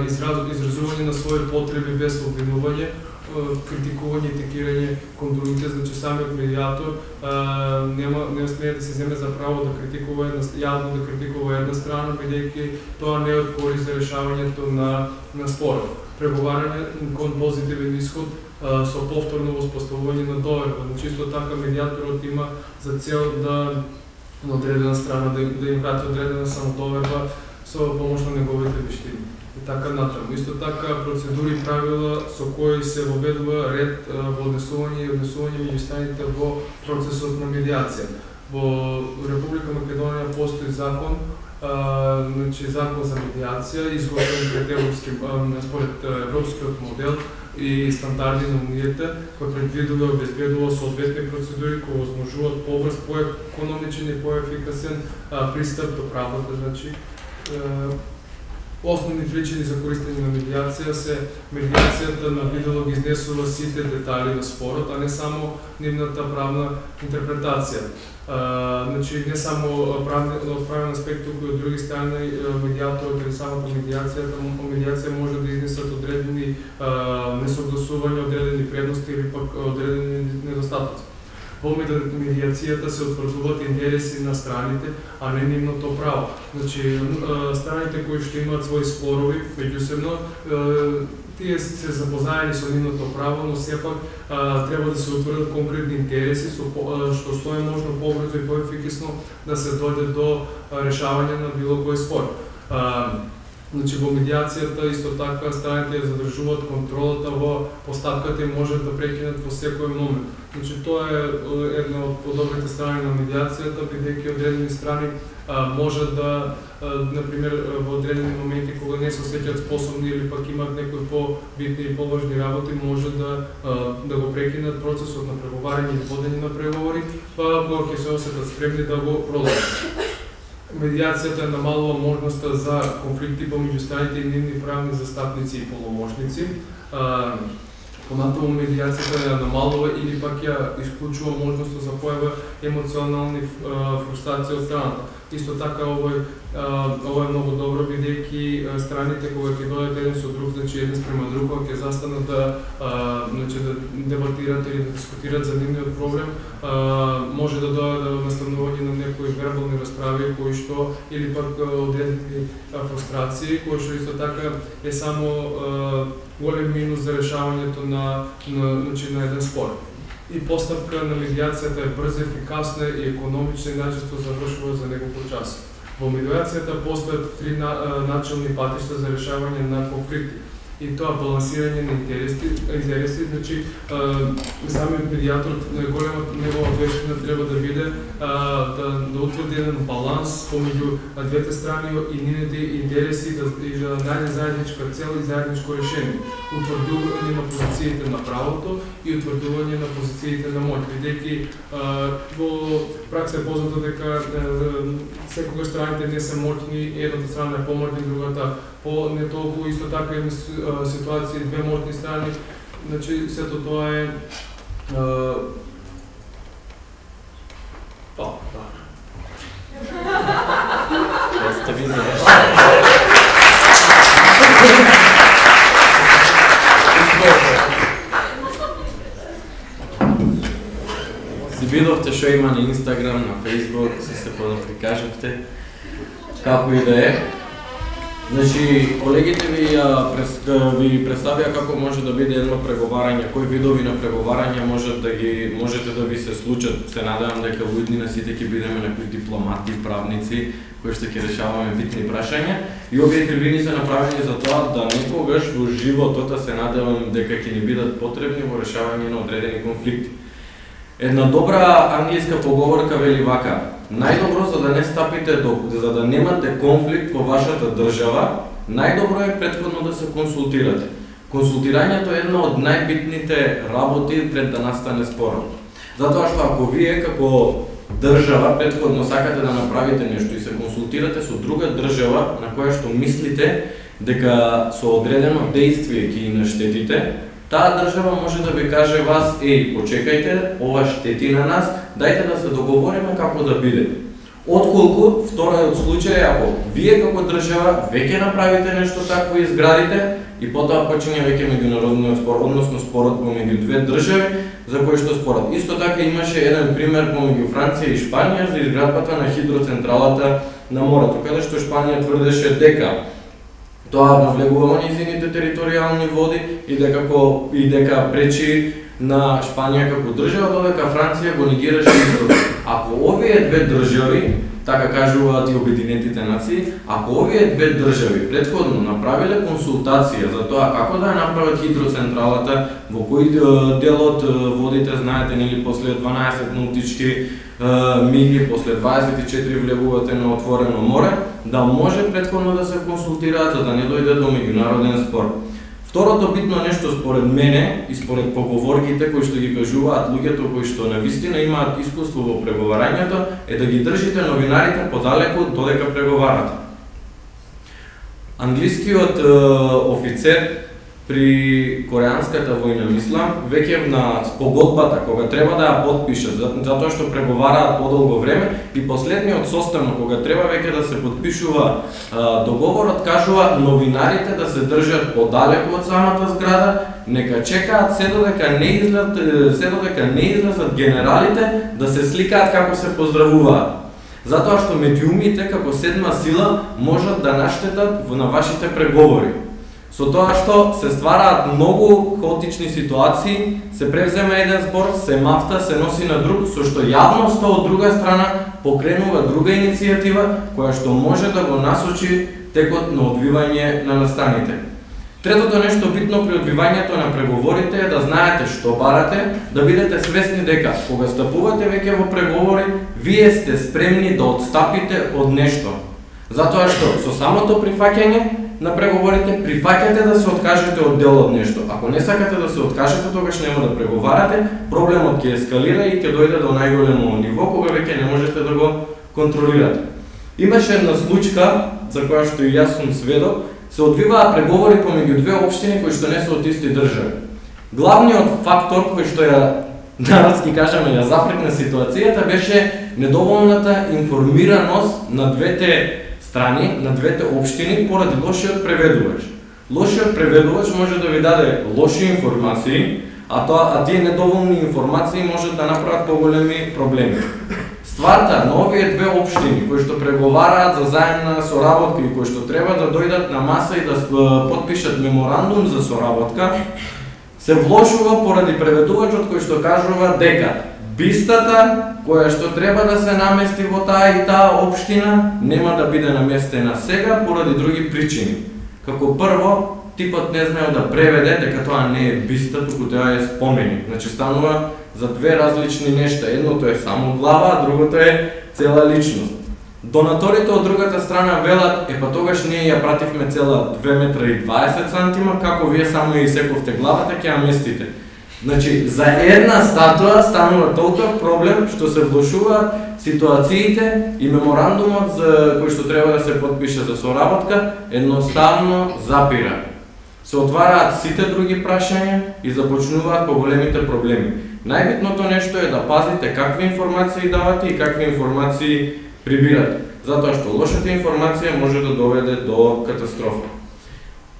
израз, изразување на своји потреби без обвинување, критикување и текирање кон другите, значи самиот медиатор а, нема не смее да се земе за право да критикува една, јавно да критикува една страна, бидејќи тоа не е од корист за решавањето на на спорот. Преговарање кон позитивен исход а, со повторно воспоставување на доверба. Значи исто така медиаторот има за цел да на одредена страна да, да им прати одредена самодоверба со помош на неговите вештини. И така натаму. Исто така процедури и правила со кои се воведува ред во однесување и однесување меѓу страните во процесот на медиација. Во Република Македонија постои закон, а, значи закон за медиација, изготвен пред европски, според европскиот модел и стандарди на унијата, кој предвидува и обезбедува соодветни процедури кои возможуваат побрз, поекономичен и поефикасен пристап до правдата, значи основни причини за користење на медиација се медиацијата на видело ги изнесува сите детали на спорот, а не само нивната правна интерпретација. А, значи не само правни, од правен аспект, туку и од други страни медиаторот или самата медиацијата, медиација може да изнесат одредени а, несогласувања, одредени предности или пак одредени недостатоци. Во медиацијата се утврдуваат интереси на страните, а не нивното право. Значи, страните кои што имаат своји спорови меѓусебно, тие се запознаени со нивното право, но сепак треба да се утврдат конкретни интереси, со што што е можно побрзо и поефикасно да се дојде до решавање на било кој спор. Значи, во медиацијата исто така страните задржуваат контролата во постапката и можат да прекинат во секој момент. Значи, тоа е една од добрите страни на медиацијата, бидејќи одредени страни а, можат да, а, например, во одредени моменти кога не се осеќаат способни или пак имаат некои по-битни и поважни работи, може да а, да го прекинат процесот на преговарање или водење на преговори, па кога ќе се осетат спремни да го продолжат. медијацијата намалува можноста за конфликти помеѓу страните и нивни правни застапници и полномошници. Понатаму медијацијата ја намалува или пак ја исклучува можноста за појава емоционални фрустрации од страната. Исто така овој ова е многу добро, бидејќи страните кога ќе дојдат еден со друг, значи еден спрема друг, кога ќе застанат да значи да дебатираат или да дискутираат за нивниот проблем, може да дојде до настанување на некои вербални расправи кои што или пак одредени фрустрации, кои што исто така е само голем минус за решавањето на на значи на еден спор. И поставка на медијацијата е брза, ефикасна и економична и најчесто завршува за неколку часа. Во медијацијата постојат три на, начални патишта за решавање на конфликти. И тоа балансирање на интереси, интереси, значи самиот медијатор, големата негова вештина треба да биде да, да утврди еден баланс помеѓу двете страни и нивните интереси да, и да најде заедничка цел и заедничко решение. Утврдување на позициите на правото и утврдување на позициите на моќ. Бидејќи во пракса е познато дека секогаш страните не се моќни, едната страна е помоќна, другата по не толку, исто така има ситуации две моќни страни, значи сето тоа е па, да. Јас те видам. Си видовте што има на Инстаграм, на Фейсбук, се се подоприкажавте, како и да е. Значи, колегите ви, ви представија како може да биде едно преговарање, кои видови на преговарање може да ги, можете да ви се случат. Се надевам дека во иднина сите ќе бидеме некои дипломати, правници, кои што ќе решаваме битни прашања. И овие трибини се направени за тоа да некогаш во животот, се надевам дека ќе ни бидат потребни во решавање на одредени конфликти. Една добра англиска поговорка вели вака: најдобро за да не стапите до, за да немате конфликт во вашата држава, најдобро е претходно да се консултирате. Консултирањето е една од најбитните работи пред да настане спорот. Затоа што ако вие како држава претходно сакате да направите нешто и се консултирате со друга држава на која што мислите дека со одредено дејствие ќе ги наштетите, таа држава може да ви каже вас: еј, почекајте, ова штети на нас, дајте да се договориме како да биде. Отколку вториот случај е ако вие како држава веќе направите нешто такво и изградите и потоа почине веќе меѓународниот спор, односно спорот помеѓу две држави за кој што спорот. Исто така имаше еден пример помеѓу Франција и Шпанија за изградбата на хидроцентралата на морето, каде што Шпанија тврдеше дека тоа навлегува во низините територијални води и дека и дека пречи на Шпанија како држава, додека Франција го негираше изградбата. Ако овие две држави, така кажуваат и Обединетите нации, ако овие две држави претходно направиле консултација за тоа како да ја направат хидроцентралата, во кој дел од водите, знаете, нели, после дванаесет наутички мили, после дваесет и четири влегувате на отворено море, да може претходно да се консултираат за да не дојде до меѓународен спор. Второто битно нешто според мене и според поговорките кои што ги кажуваат луѓето кои што навистина имаат искуство во преговарањето е да ги држите новинарите подалеку додека преговарате. Англискиот е, офицер при Кореанската војна, мислам, веќе на спогодбата, кога треба да ја подпишат, затоа што преговараат подолго време, и последниот состанок, кога треба веќе да се подпишува а, договорот, кажува новинарите да се држат подалеку од самата зграда, нека чекаат се додека не излезат, се додека не излезат генералите да се сликаат како се поздравуваат. Затоа што медиумите како седма сила можат да наштетат на вашите преговори. Со тоа што се ствараат многу хаотични ситуации, се превзема еден збор, се мафта, се носи на друг, со што јавноста од друга страна покренува друга иницијатива која што може да го насочи текот на одвивање на настаните. Третото нешто битно при одвивањето на преговорите е да знаете што барате, да бидете свесни дека кога стапувате веќе во преговори, вие сте спремни да отстапите од нешто. Затоа што со самото прифаќање на преговорите прифаќате да се откажете од дел од нешто. Ако не сакате да се откажете, тогаш нема да преговарате, проблемот ќе ескалира и ќе дојде до најголемо ниво кога веќе не можете да го контролирате. Имаше една случка за која што и јас сум сведок, се одвиваа преговори помеѓу две општини кои што не се од исти држави. Главниот фактор кој што ја народски кажаме ја зафрекна ситуацијата беше недоволната информираност на двете страни, на двете општини поради лошиот преведувач. Лошиот преведувач може да ви даде лоши информации, а тоа а тие недоволни информации можат да направат поголеми проблеми. Стварта на овие две општини кои што преговараат за заемна соработка и кои што треба да дојдат на маса и да потпишат меморандум за соработка, се влошува поради преведувачот кој што кажува дека бистата која што треба да се намести во таа и таа општина нема да биде наместена сега поради други причини. Како прво, типот не знаел да преведе дека тоа не е биста, туку тоа е споменик. Значи станува за две различни нешта. Едното е само глава, а другото е цела личност. Донаторите од другата страна велат, е па тогаш ние ја пративме цела две метра и дваесет сантима, како вие само ја исековте главата, ќе ја местите. Значи, за една статуа станува толков проблем што се влошуваат ситуациите и меморандумот за кој што треба да се подпише за соработка едноставно запира. Се отвараат сите други прашања и започнуваат поголемите проблеми. Најбитното нешто е да пазите какви информации давате и какви информации прибирате, затоа што лошата информација може да доведе до катастрофа.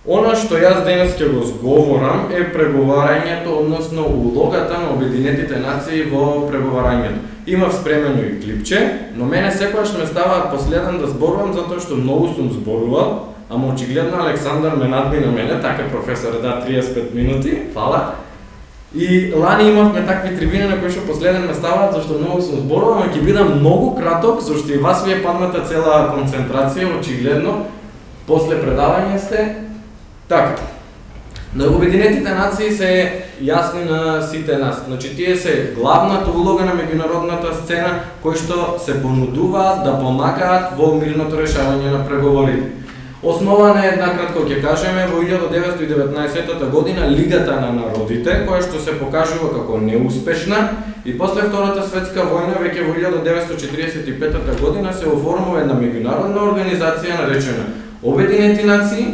Она што јас денес ќе го зговорам е преговарањето, односно улогата на Обединетите нации во преговарањето. Имав спремено и клипче, но мене секогаш ме ставаат последен да зборувам затоа што многу сум зборувал, ама очигледно Александар ме надмина мене, така професор, да, триесет и пет минути, фала. И лани имавме такви трибини на кои што последен ме ставаат зашто многу сум зборувал, ама ќе бидам многу краток зашто и вас ви е падната цела концентрација, очигледно. После предавање сте. Така, на Обединетите нации се јасни на сите нас. Значи, тие се главната улога на меѓународната сцена, кои што се понудуваат да помагаат во мирното решавање на преговорите. Основана е, накратко ќе кажеме, во илјада деветстотини и деветнаесетта година Лигата на народите, која што се покажува како неуспешна, и после Втората светска војна, веќе во илјада деветстотини четиридесет и петта година се оформува една меѓународна организација наречена Обединети нации,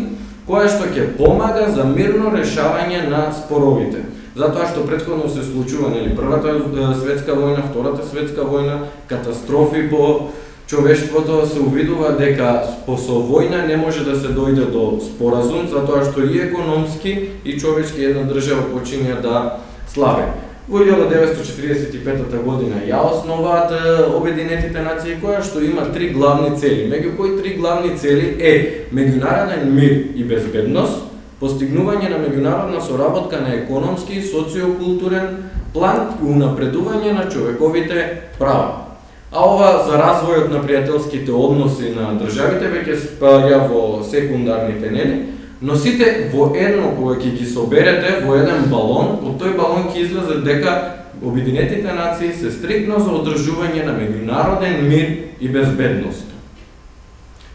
која што ќе помага за мирно решавање на споровите. Затоа што претходно се случува, нели, Првата светска војна, Втората светска војна, катастрофи по човештвото, се увидува дека со војна не може да се дојде до споразум, затоа што и економски и човечки една држава почиња да слабе. Во илјада деветстотини четиридесет и петта година ја основаат Обединетите нации, која што има три главни цели. Меѓу кои три главни цели е меѓународен мир и безбедност, постигнување на меѓународна соработка на економски и социокултурен план и унапредување на човековите права. А ова за развојот на пријателските односи на државите веќе спаѓа во секундарните, нели? Но сите во едно, кога ќе ги соберете во еден балон, од тој балон ќе излезе дека Обединетите нации се стриктно за одржување на меѓународен мир и безбедност.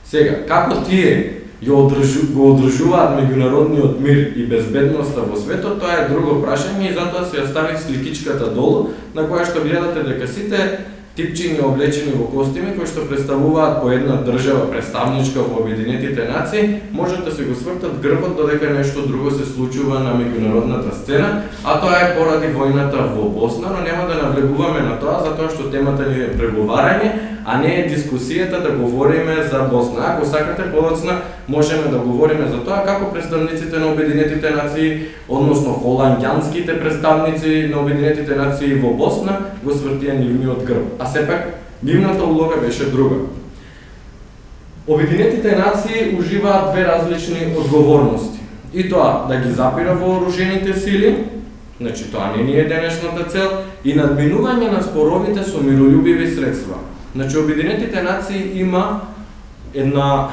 Сега, како тие го одржуваат меѓународниот мир и безбедноста во светот, тоа е друго прашање и затоа се ја ставив сликичката долу, на која што гледате дека сите типчиња облечени во костими кои што представуваат по една држава представничка во Обединетите нации, можат да се го свртат грбот додека нешто друго се случува на меѓународната сцена, а тоа е поради војната во Босна, но нема да навлегуваме на тоа затоа што темата ни е преговарање, а не е дискусијата да говориме за Босна. Ако сакате подоцна, можеме да говориме за тоа како представниците на Обединетите нации, односно холандјанските представници на Обединетите нации во Босна го свртија нивниот грб. А сепак, нивната улога беше друга. Обединетите нации уживаат две различни одговорности. И тоа да ги запира вооружените сили, значи тоа не ни е денешната цел, и надминување на споровите со миролюбиви средства. Значи, Обединетите нации има една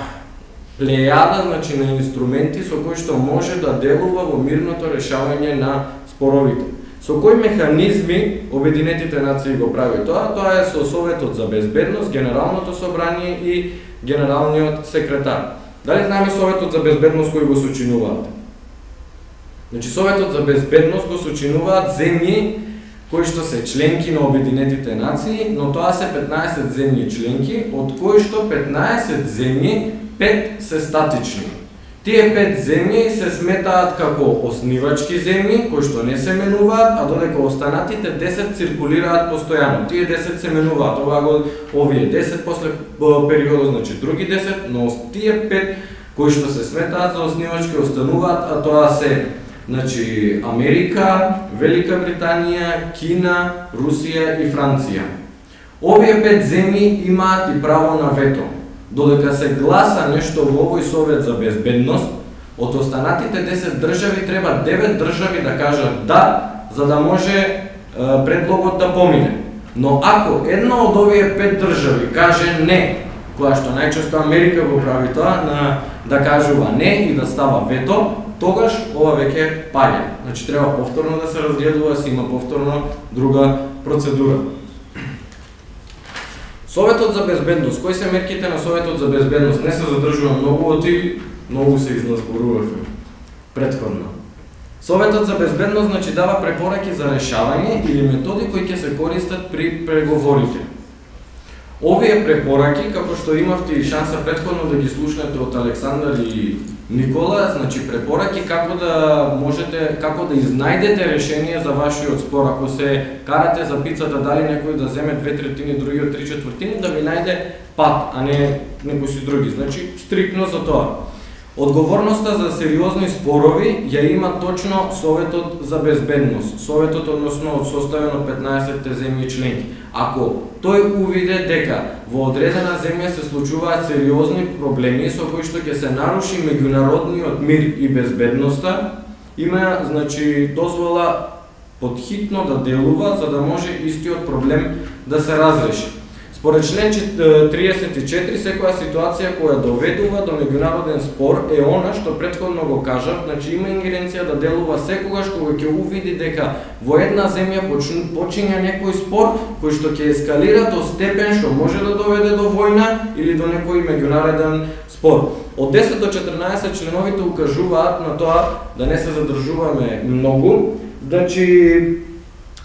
плејада, значи, на инструменти со кои што може да делува во мирното решавање на споровите. Со кои механизми Обединетите нации го прави тоа? Тоа е со Советот за безбедност, Генералното собрание и Генералниот секретар. Дали знаеме Советот за безбедност кои го сочинуваат? Значи, Советот за безбедност го сочинуваат земји кои што се членки на Обединетите нации, но тоа се петнаесет земји членки, од кои што петнаесет земји, пет се статични. Тие пет земји се сметаат како основачки земји, кои што не се менуваат, а додека останатите десет циркулираат постојано. Тие десет се менуваат, ова го овие десет после периодот, значи други десет, но тие пет кои што се сметаат за основачки остануваат, а тоа се значи Америка, Велика Британија, Кина, Русија и Франција. Овие пет земји имаат и право на вето. Додека се гласа нешто во овој Совет за безбедност, од останатите десет држави треба девет држави да кажат да, за да може е, предлогот да помине. Но ако една од овие пет држави каже не, која што најчесто Америка го прави тоа, на, да кажува не и да става вето, тогаш ова веќе паѓа. Значи треба повторно да се разгледува, се има повторно друга процедура. Советот за безбедност. Кои се мерките на Советот за безбедност? Не се задржува многу од и многу се изназборувавме претходно. Советот за безбедност значи дава препораки за решавање или методи кои ќе се користат при преговорите. Овие препораки, како што имавте и шанса претходно да ги слушнете од Александар и Никола, значи препораки како да можете, како да изнајдете решение за вашиот спор. Ако се карате за пицата, дали некој да земе две третини, другиот три четвртини, да ви најде пат, а не некои си други. Значи, стриктно за тоа. Одговорноста за сериозни спорови ја има точно Советот за безбедност. Советот, односно од составен од петнаесет земји членки. Ако тој увиде дека во одредена земја се случуваат сериозни проблеми со кои што ќе се наруши меѓународниот мир и безбедноста, има значи дозвола подхитно да делува за да може истиот проблем да се разреши. Според член триесет и четири, секоја ситуација која доведува до меѓународен спор е она што претходно го кажав, значи има ингеренција да делува секогаш кога ќе увиди дека во една земја почиња некој спор кој што ќе ескалира до степен што може да доведе до војна или до некој меѓународен спор. Од десет до четрнаесет членовите укажуваат на тоа да не се задржуваме многу, значи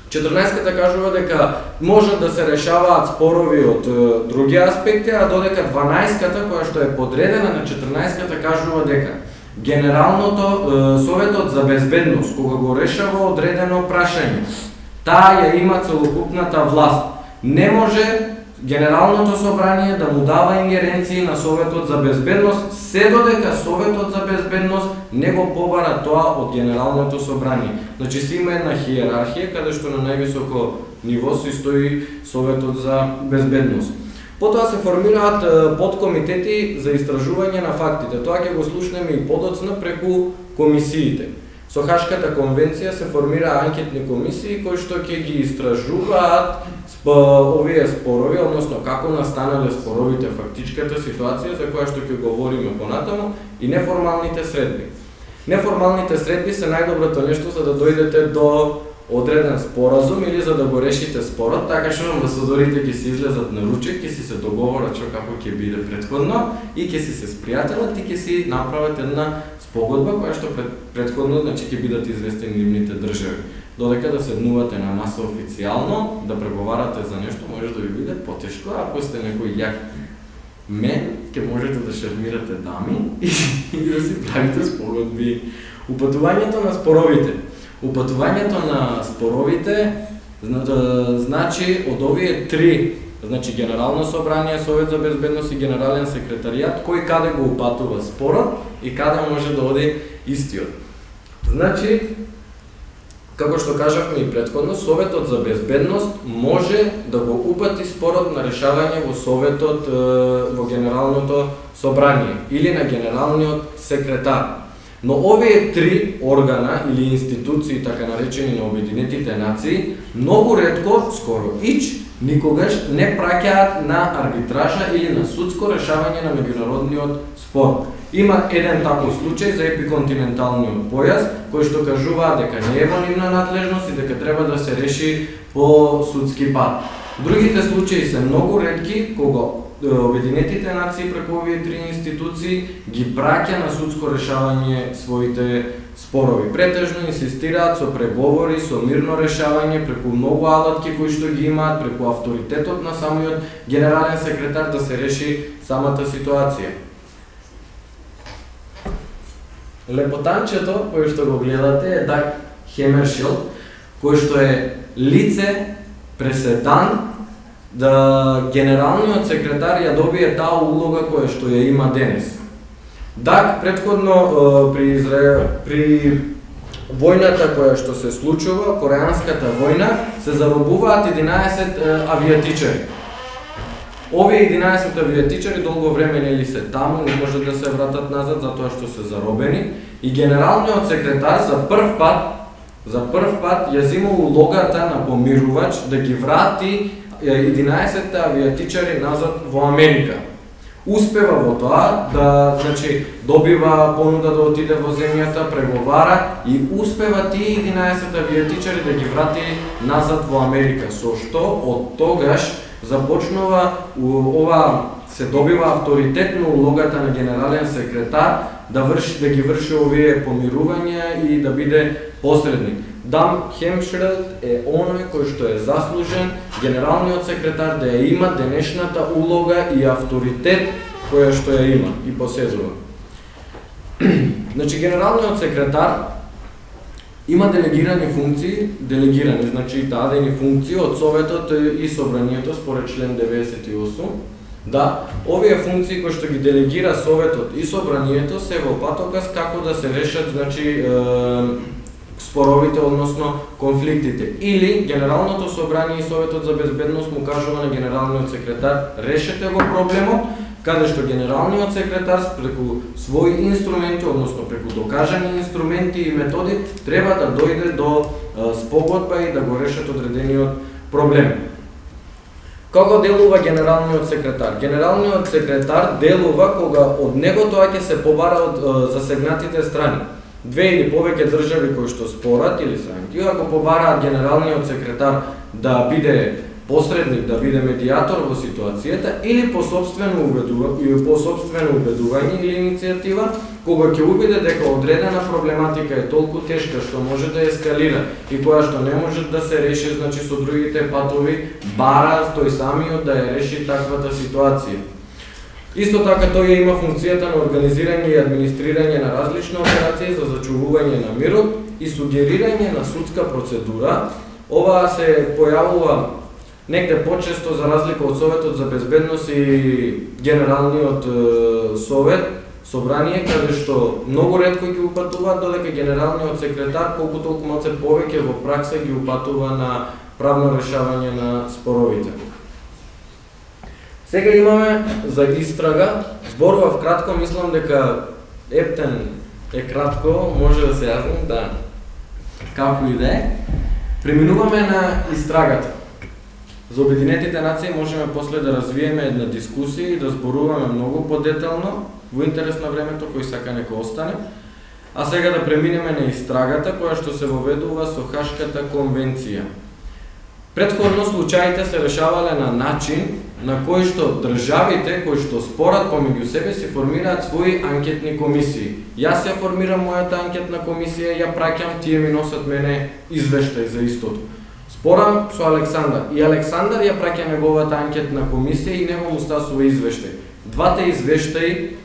четрнаесетката кажува дека може да се решаваат спорови од други аспекти, а додека дванаесетката, која што е подредена на четрнаесетката, кажува дека Генералното Советот за безбедност, кога го решава одредено прашање, таа ја има целокупната власт. Не може Генералното собрание да му дава ингеренции на Советот за безбедност, се додека Советот за безбедност не го побара тоа од Генералното собрание. Значи си има една хиерархија каде што на највисоко ниво се стои Советот за безбедност. Потоа се формираат подкомитети за истражување на фактите. Тоа ќе го слушнеме и подоцна преку комисиите. Со Хашката конвенција се формира анкетни комисии кои што ќе ги истражуваат овие спорови, односно како настанале споровите, фактичката ситуација за која што ќе говориме понатаму, и неформалните средби. Неформалните средби се најдоброто нешто за да дојдете до одреден споразум или за да го решите спорот, така што амбасадорите ќе се излезат на ручек, ќе си се договорат што како ќе биде претходно и ќе си се спријателат и ќе си направат една спогодба која што пред, претходно значи ќе бидат известени нивните држави. Додека да седнувате на маса официјално, да преговарате за нешто, може да ви биде потешко, ако сте некој јак мен, ќе можете да шармирате дами и, и да си правите спогодби. Упатувањето на споровите. Упатувањето на споровите значи од овие три, значи Генерално собрание, Совет за безбедност и Генерален секретаријат, кој каде го упатува спорот и каде може да оди истиот. Значи, како што кажавме и претходно, Советот за безбедност може да го упати спорот на решавање во Советот, во Генералното собрание или на Генералниот секретар. Но овие три органа или институции, така наречени на Обединетите нации, многу ретко, скоро ич, никогаш не праќаат на арбитража или на судско решавање на меѓународниот спор. Има еден таков случај за епиконтиненталниот појас, кој што кажуваат дека не е во нивна надлежност и дека треба да се реши по судски пат. Другите случаи се многу ретки кога Обединетите нации преку овие три институции ги праќа на судско решавање своите спорови. Претежно инсистираат со преговори, со мирно решавање, преку многу алатки кои што ги имаат, преку авторитетот на самиот генерален секретар да се реши самата ситуација. Лепотанчето кој што го гледате е Даг Хемершилд, кој што е лице преседан да генералниот секретар ја добие таа улога која што ја има денес. Даг претходно при Израел, при војната која што се случува, Кореанската војна, се заробуваат единаесет авиатичари. Овие единаесет авиатичари долго време нели се таму, не можат да се вратат назад затоа што се заробени и генералниот секретар за прв пат за прв пат ја зема улогата на помирувач да ги врати единаесет авиатичари назад во Америка. Успева во тоа да, значи, добива понуда да отиде во земјата, преговара и успева тие единаесет авиатичари да ги врати назад во Америка. Со што од тогаш започнува ова се добива авторитетно улогата на генерален секретар да врши да ги врши овие помирувања и да биде посредник. Даг Хемершилд е оној кој што е заслужен генералниот секретар да ја има денешната улога и авторитет која што ја има и поседува. Значи генералниот секретар има делегирани функции, делегирани, значи дадени функции од Советот и Собранието според член деветдесет и осум. Да, овие функции кои што ги делегира Советот и Собранието се во патоказ како да се решат, значи, е, споровите, односно конфликтите. Или Генералното собрание и Советот за безбедност му кажува на генералниот секретар: решете го проблемот, каде што генералниот секретар преку своји инструменти, односно преку докажани инструменти и методи, треба да дојде до е, спогодба и да го решат одредениот проблем. Како делува генералниот секретар? Генералниот секретар делува кога од него тоа ќе се побара од е, засегнатите страни. Две или повеќе држави кои што спорат или странки, ако побараат генералниот секретар да биде посредник, да биде медиатор во ситуацијата, или по собствено убедување, по собствено убедување или иницијатива, кога ќе убеде дека одредена проблематика е толку тешка што може да ескалира и која што не може да се реши, значи со другите патови, бара тој самиот да ја реши таквата ситуација. Исто така тој има функцијата на организирање и администрирање на различни операции за зачувување на мирот и сугерирање на судска процедура. Ова се појавува негде почесто за разлика од Советот за безбедност и Генералниот е, совет, собрание, каде што многу ретко ги упатуваат, додека генералниот секретар колку толку малце повеќе во пракса ги упатува на правно решавање на споровите. Сега имаме за истрага, зборував кратко, мислам дека ептен е кратко, може да се јаснам, да, како и да е. Преминуваме на истрагата. За Обединетите нации можеме после да развиеме една дискусија и да зборуваме многу подетално, во интерес на времето, кој сака нека остане. А сега да преминеме на истрагата, која што се воведува со Хашката конвенција. Претходно случаите се решавале на начин на кој што државите кои што спорат помеѓу себе си формираат своји анкетни комисии. Јас ја формирам мојата анкетна комисија, ја праќам, тие ми носат мене извештај за истото. Спорам со Александар и Александар ја праќа неговата анкетна комисија и него му стасува извештај. Двата извештаи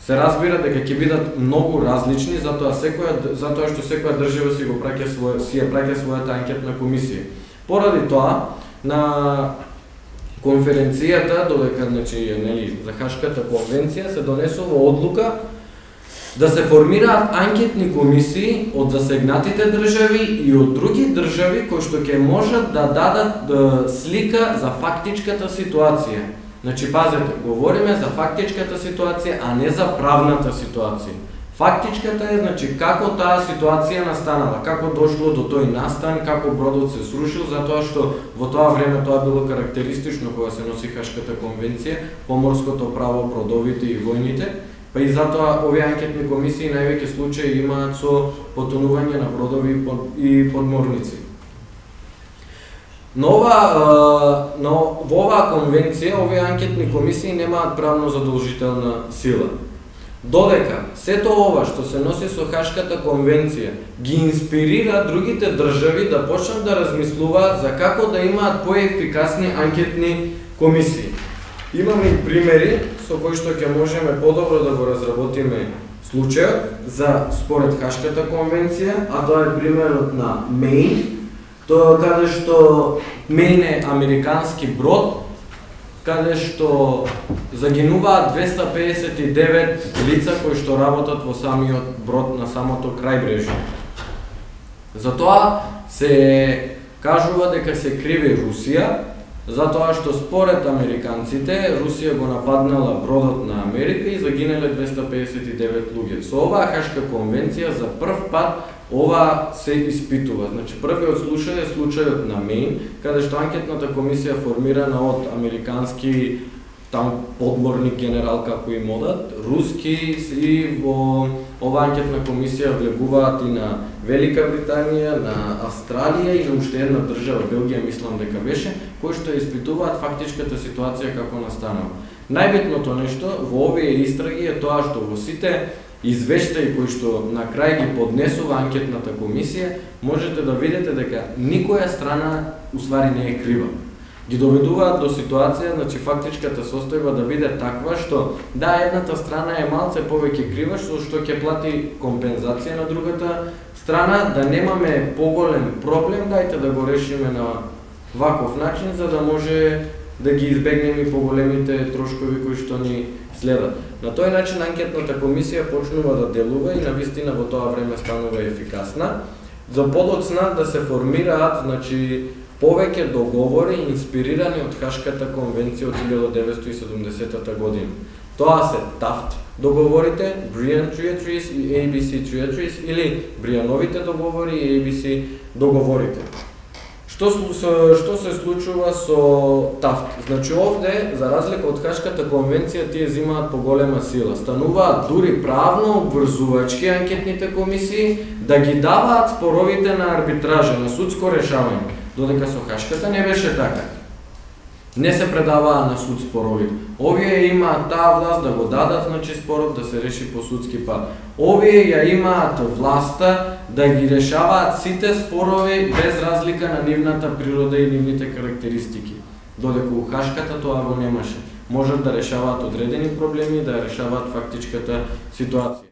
се разбира дека ќе бидат многу различни, затоа секоја затоа што секоја држава си го праќа своја си ја праќа својата анкетна комисија. Поради тоа на конференцијата, додека, значи, нели, за Хашката конвенција се донесува одлука да се формираат анкетни комисии од засегнатите држави и од други држави кои што ќе можат да дадат да, слика за фактичката ситуација. Значи, пазете, говориме за фактичката ситуација, а не за правната ситуација. Фактичката е, значи, како таа ситуација настанала, како дошло до тој настан, како бродот се срушил, затоа што во тоа време тоа било карактеристично кога се носи Хашката конвенција, поморското право, бродовите и војните, па и затоа овие анкетни комисии највеќе случаи имаат со потонување на бродови и подморници. Но ова, но во оваа конвенција овие анкетни комисии немаат правно задолжителна сила. Додека сето ова што се носи со Хашката конвенција ги инспирира другите држави да почнат да размислуваат за како да имаат поефикасни анкетни комисии. Имаме и примери со кои што ќе можеме подобро да го разработиме случајот за според Хашката конвенција, а тоа е примерот на Мејн, тоа каде што Мејн е американски брод, каде што загинуваат двеста педесет и девет лица кои што работат во самиот брод на самото крајбрежје. Затоа се кажува дека се криви Русија, затоа што според американците Русија го нападнала бродот на Америка и загинале двеста педесет и девет луѓе. Со оваа Хашка конвенција за прв пат ова се испитува. Значи првиот случај е случајот на Мејн, каде што анкетната комисија формирана од американски там подморник генерал како им одат, руски и во ова анкетна комисија влегуваат и на Велика Британија, на Австралија и на уште една држава, Белгија мислам дека беше, кои што испитуваат фактичката ситуација како настанала. Најбитното нешто во овие истраги е тоа што во сите извештаи кои што на крај ги поднесува анкетната комисија, можете да видите дека никоја страна уствари не е крива. Ги доведуваат до ситуација, значи фактичката состојба да биде таква што да, едната страна е малце повеќе крива што што ќе плати компензација на другата страна, да немаме поголем проблем, дајте да го решиме на ваков начин за да може да ги избегнеме и поголемите трошкови кои што ни следат. На тој начин анкетната комисија почнува да делува и навистина во тоа време станува ефикасна. За подоцна да се формираат, значи, повеќе договори инспирирани од Хашката конвенција од илјада деветстотини и седумдесетата година. Тоа се Тафт договорите, Бриан Treaties и A B C Treaties или Бриановите договори и A B C договорите. Што, што се случува со Тафт? Значи овде, за разлика од Хашката конвенција, тие земаат поголема сила. Стануваат дури правно обврзувачки анкетните комисии да ги даваат споровите на арбитража, на судско решавање. Додека со Хашката не беше така. Не се предаваа на суд споровите. Овие имаат таа власт да го дадат, значи спорот да се реши по судски пат. Овие ја имаат власта да ги решаваат сите спорови без разлика на нивната природа и нивните карактеристики. Додека у Хашката тоа го немаше. Можат да решаваат одредени проблеми, да решаваат фактичката ситуација.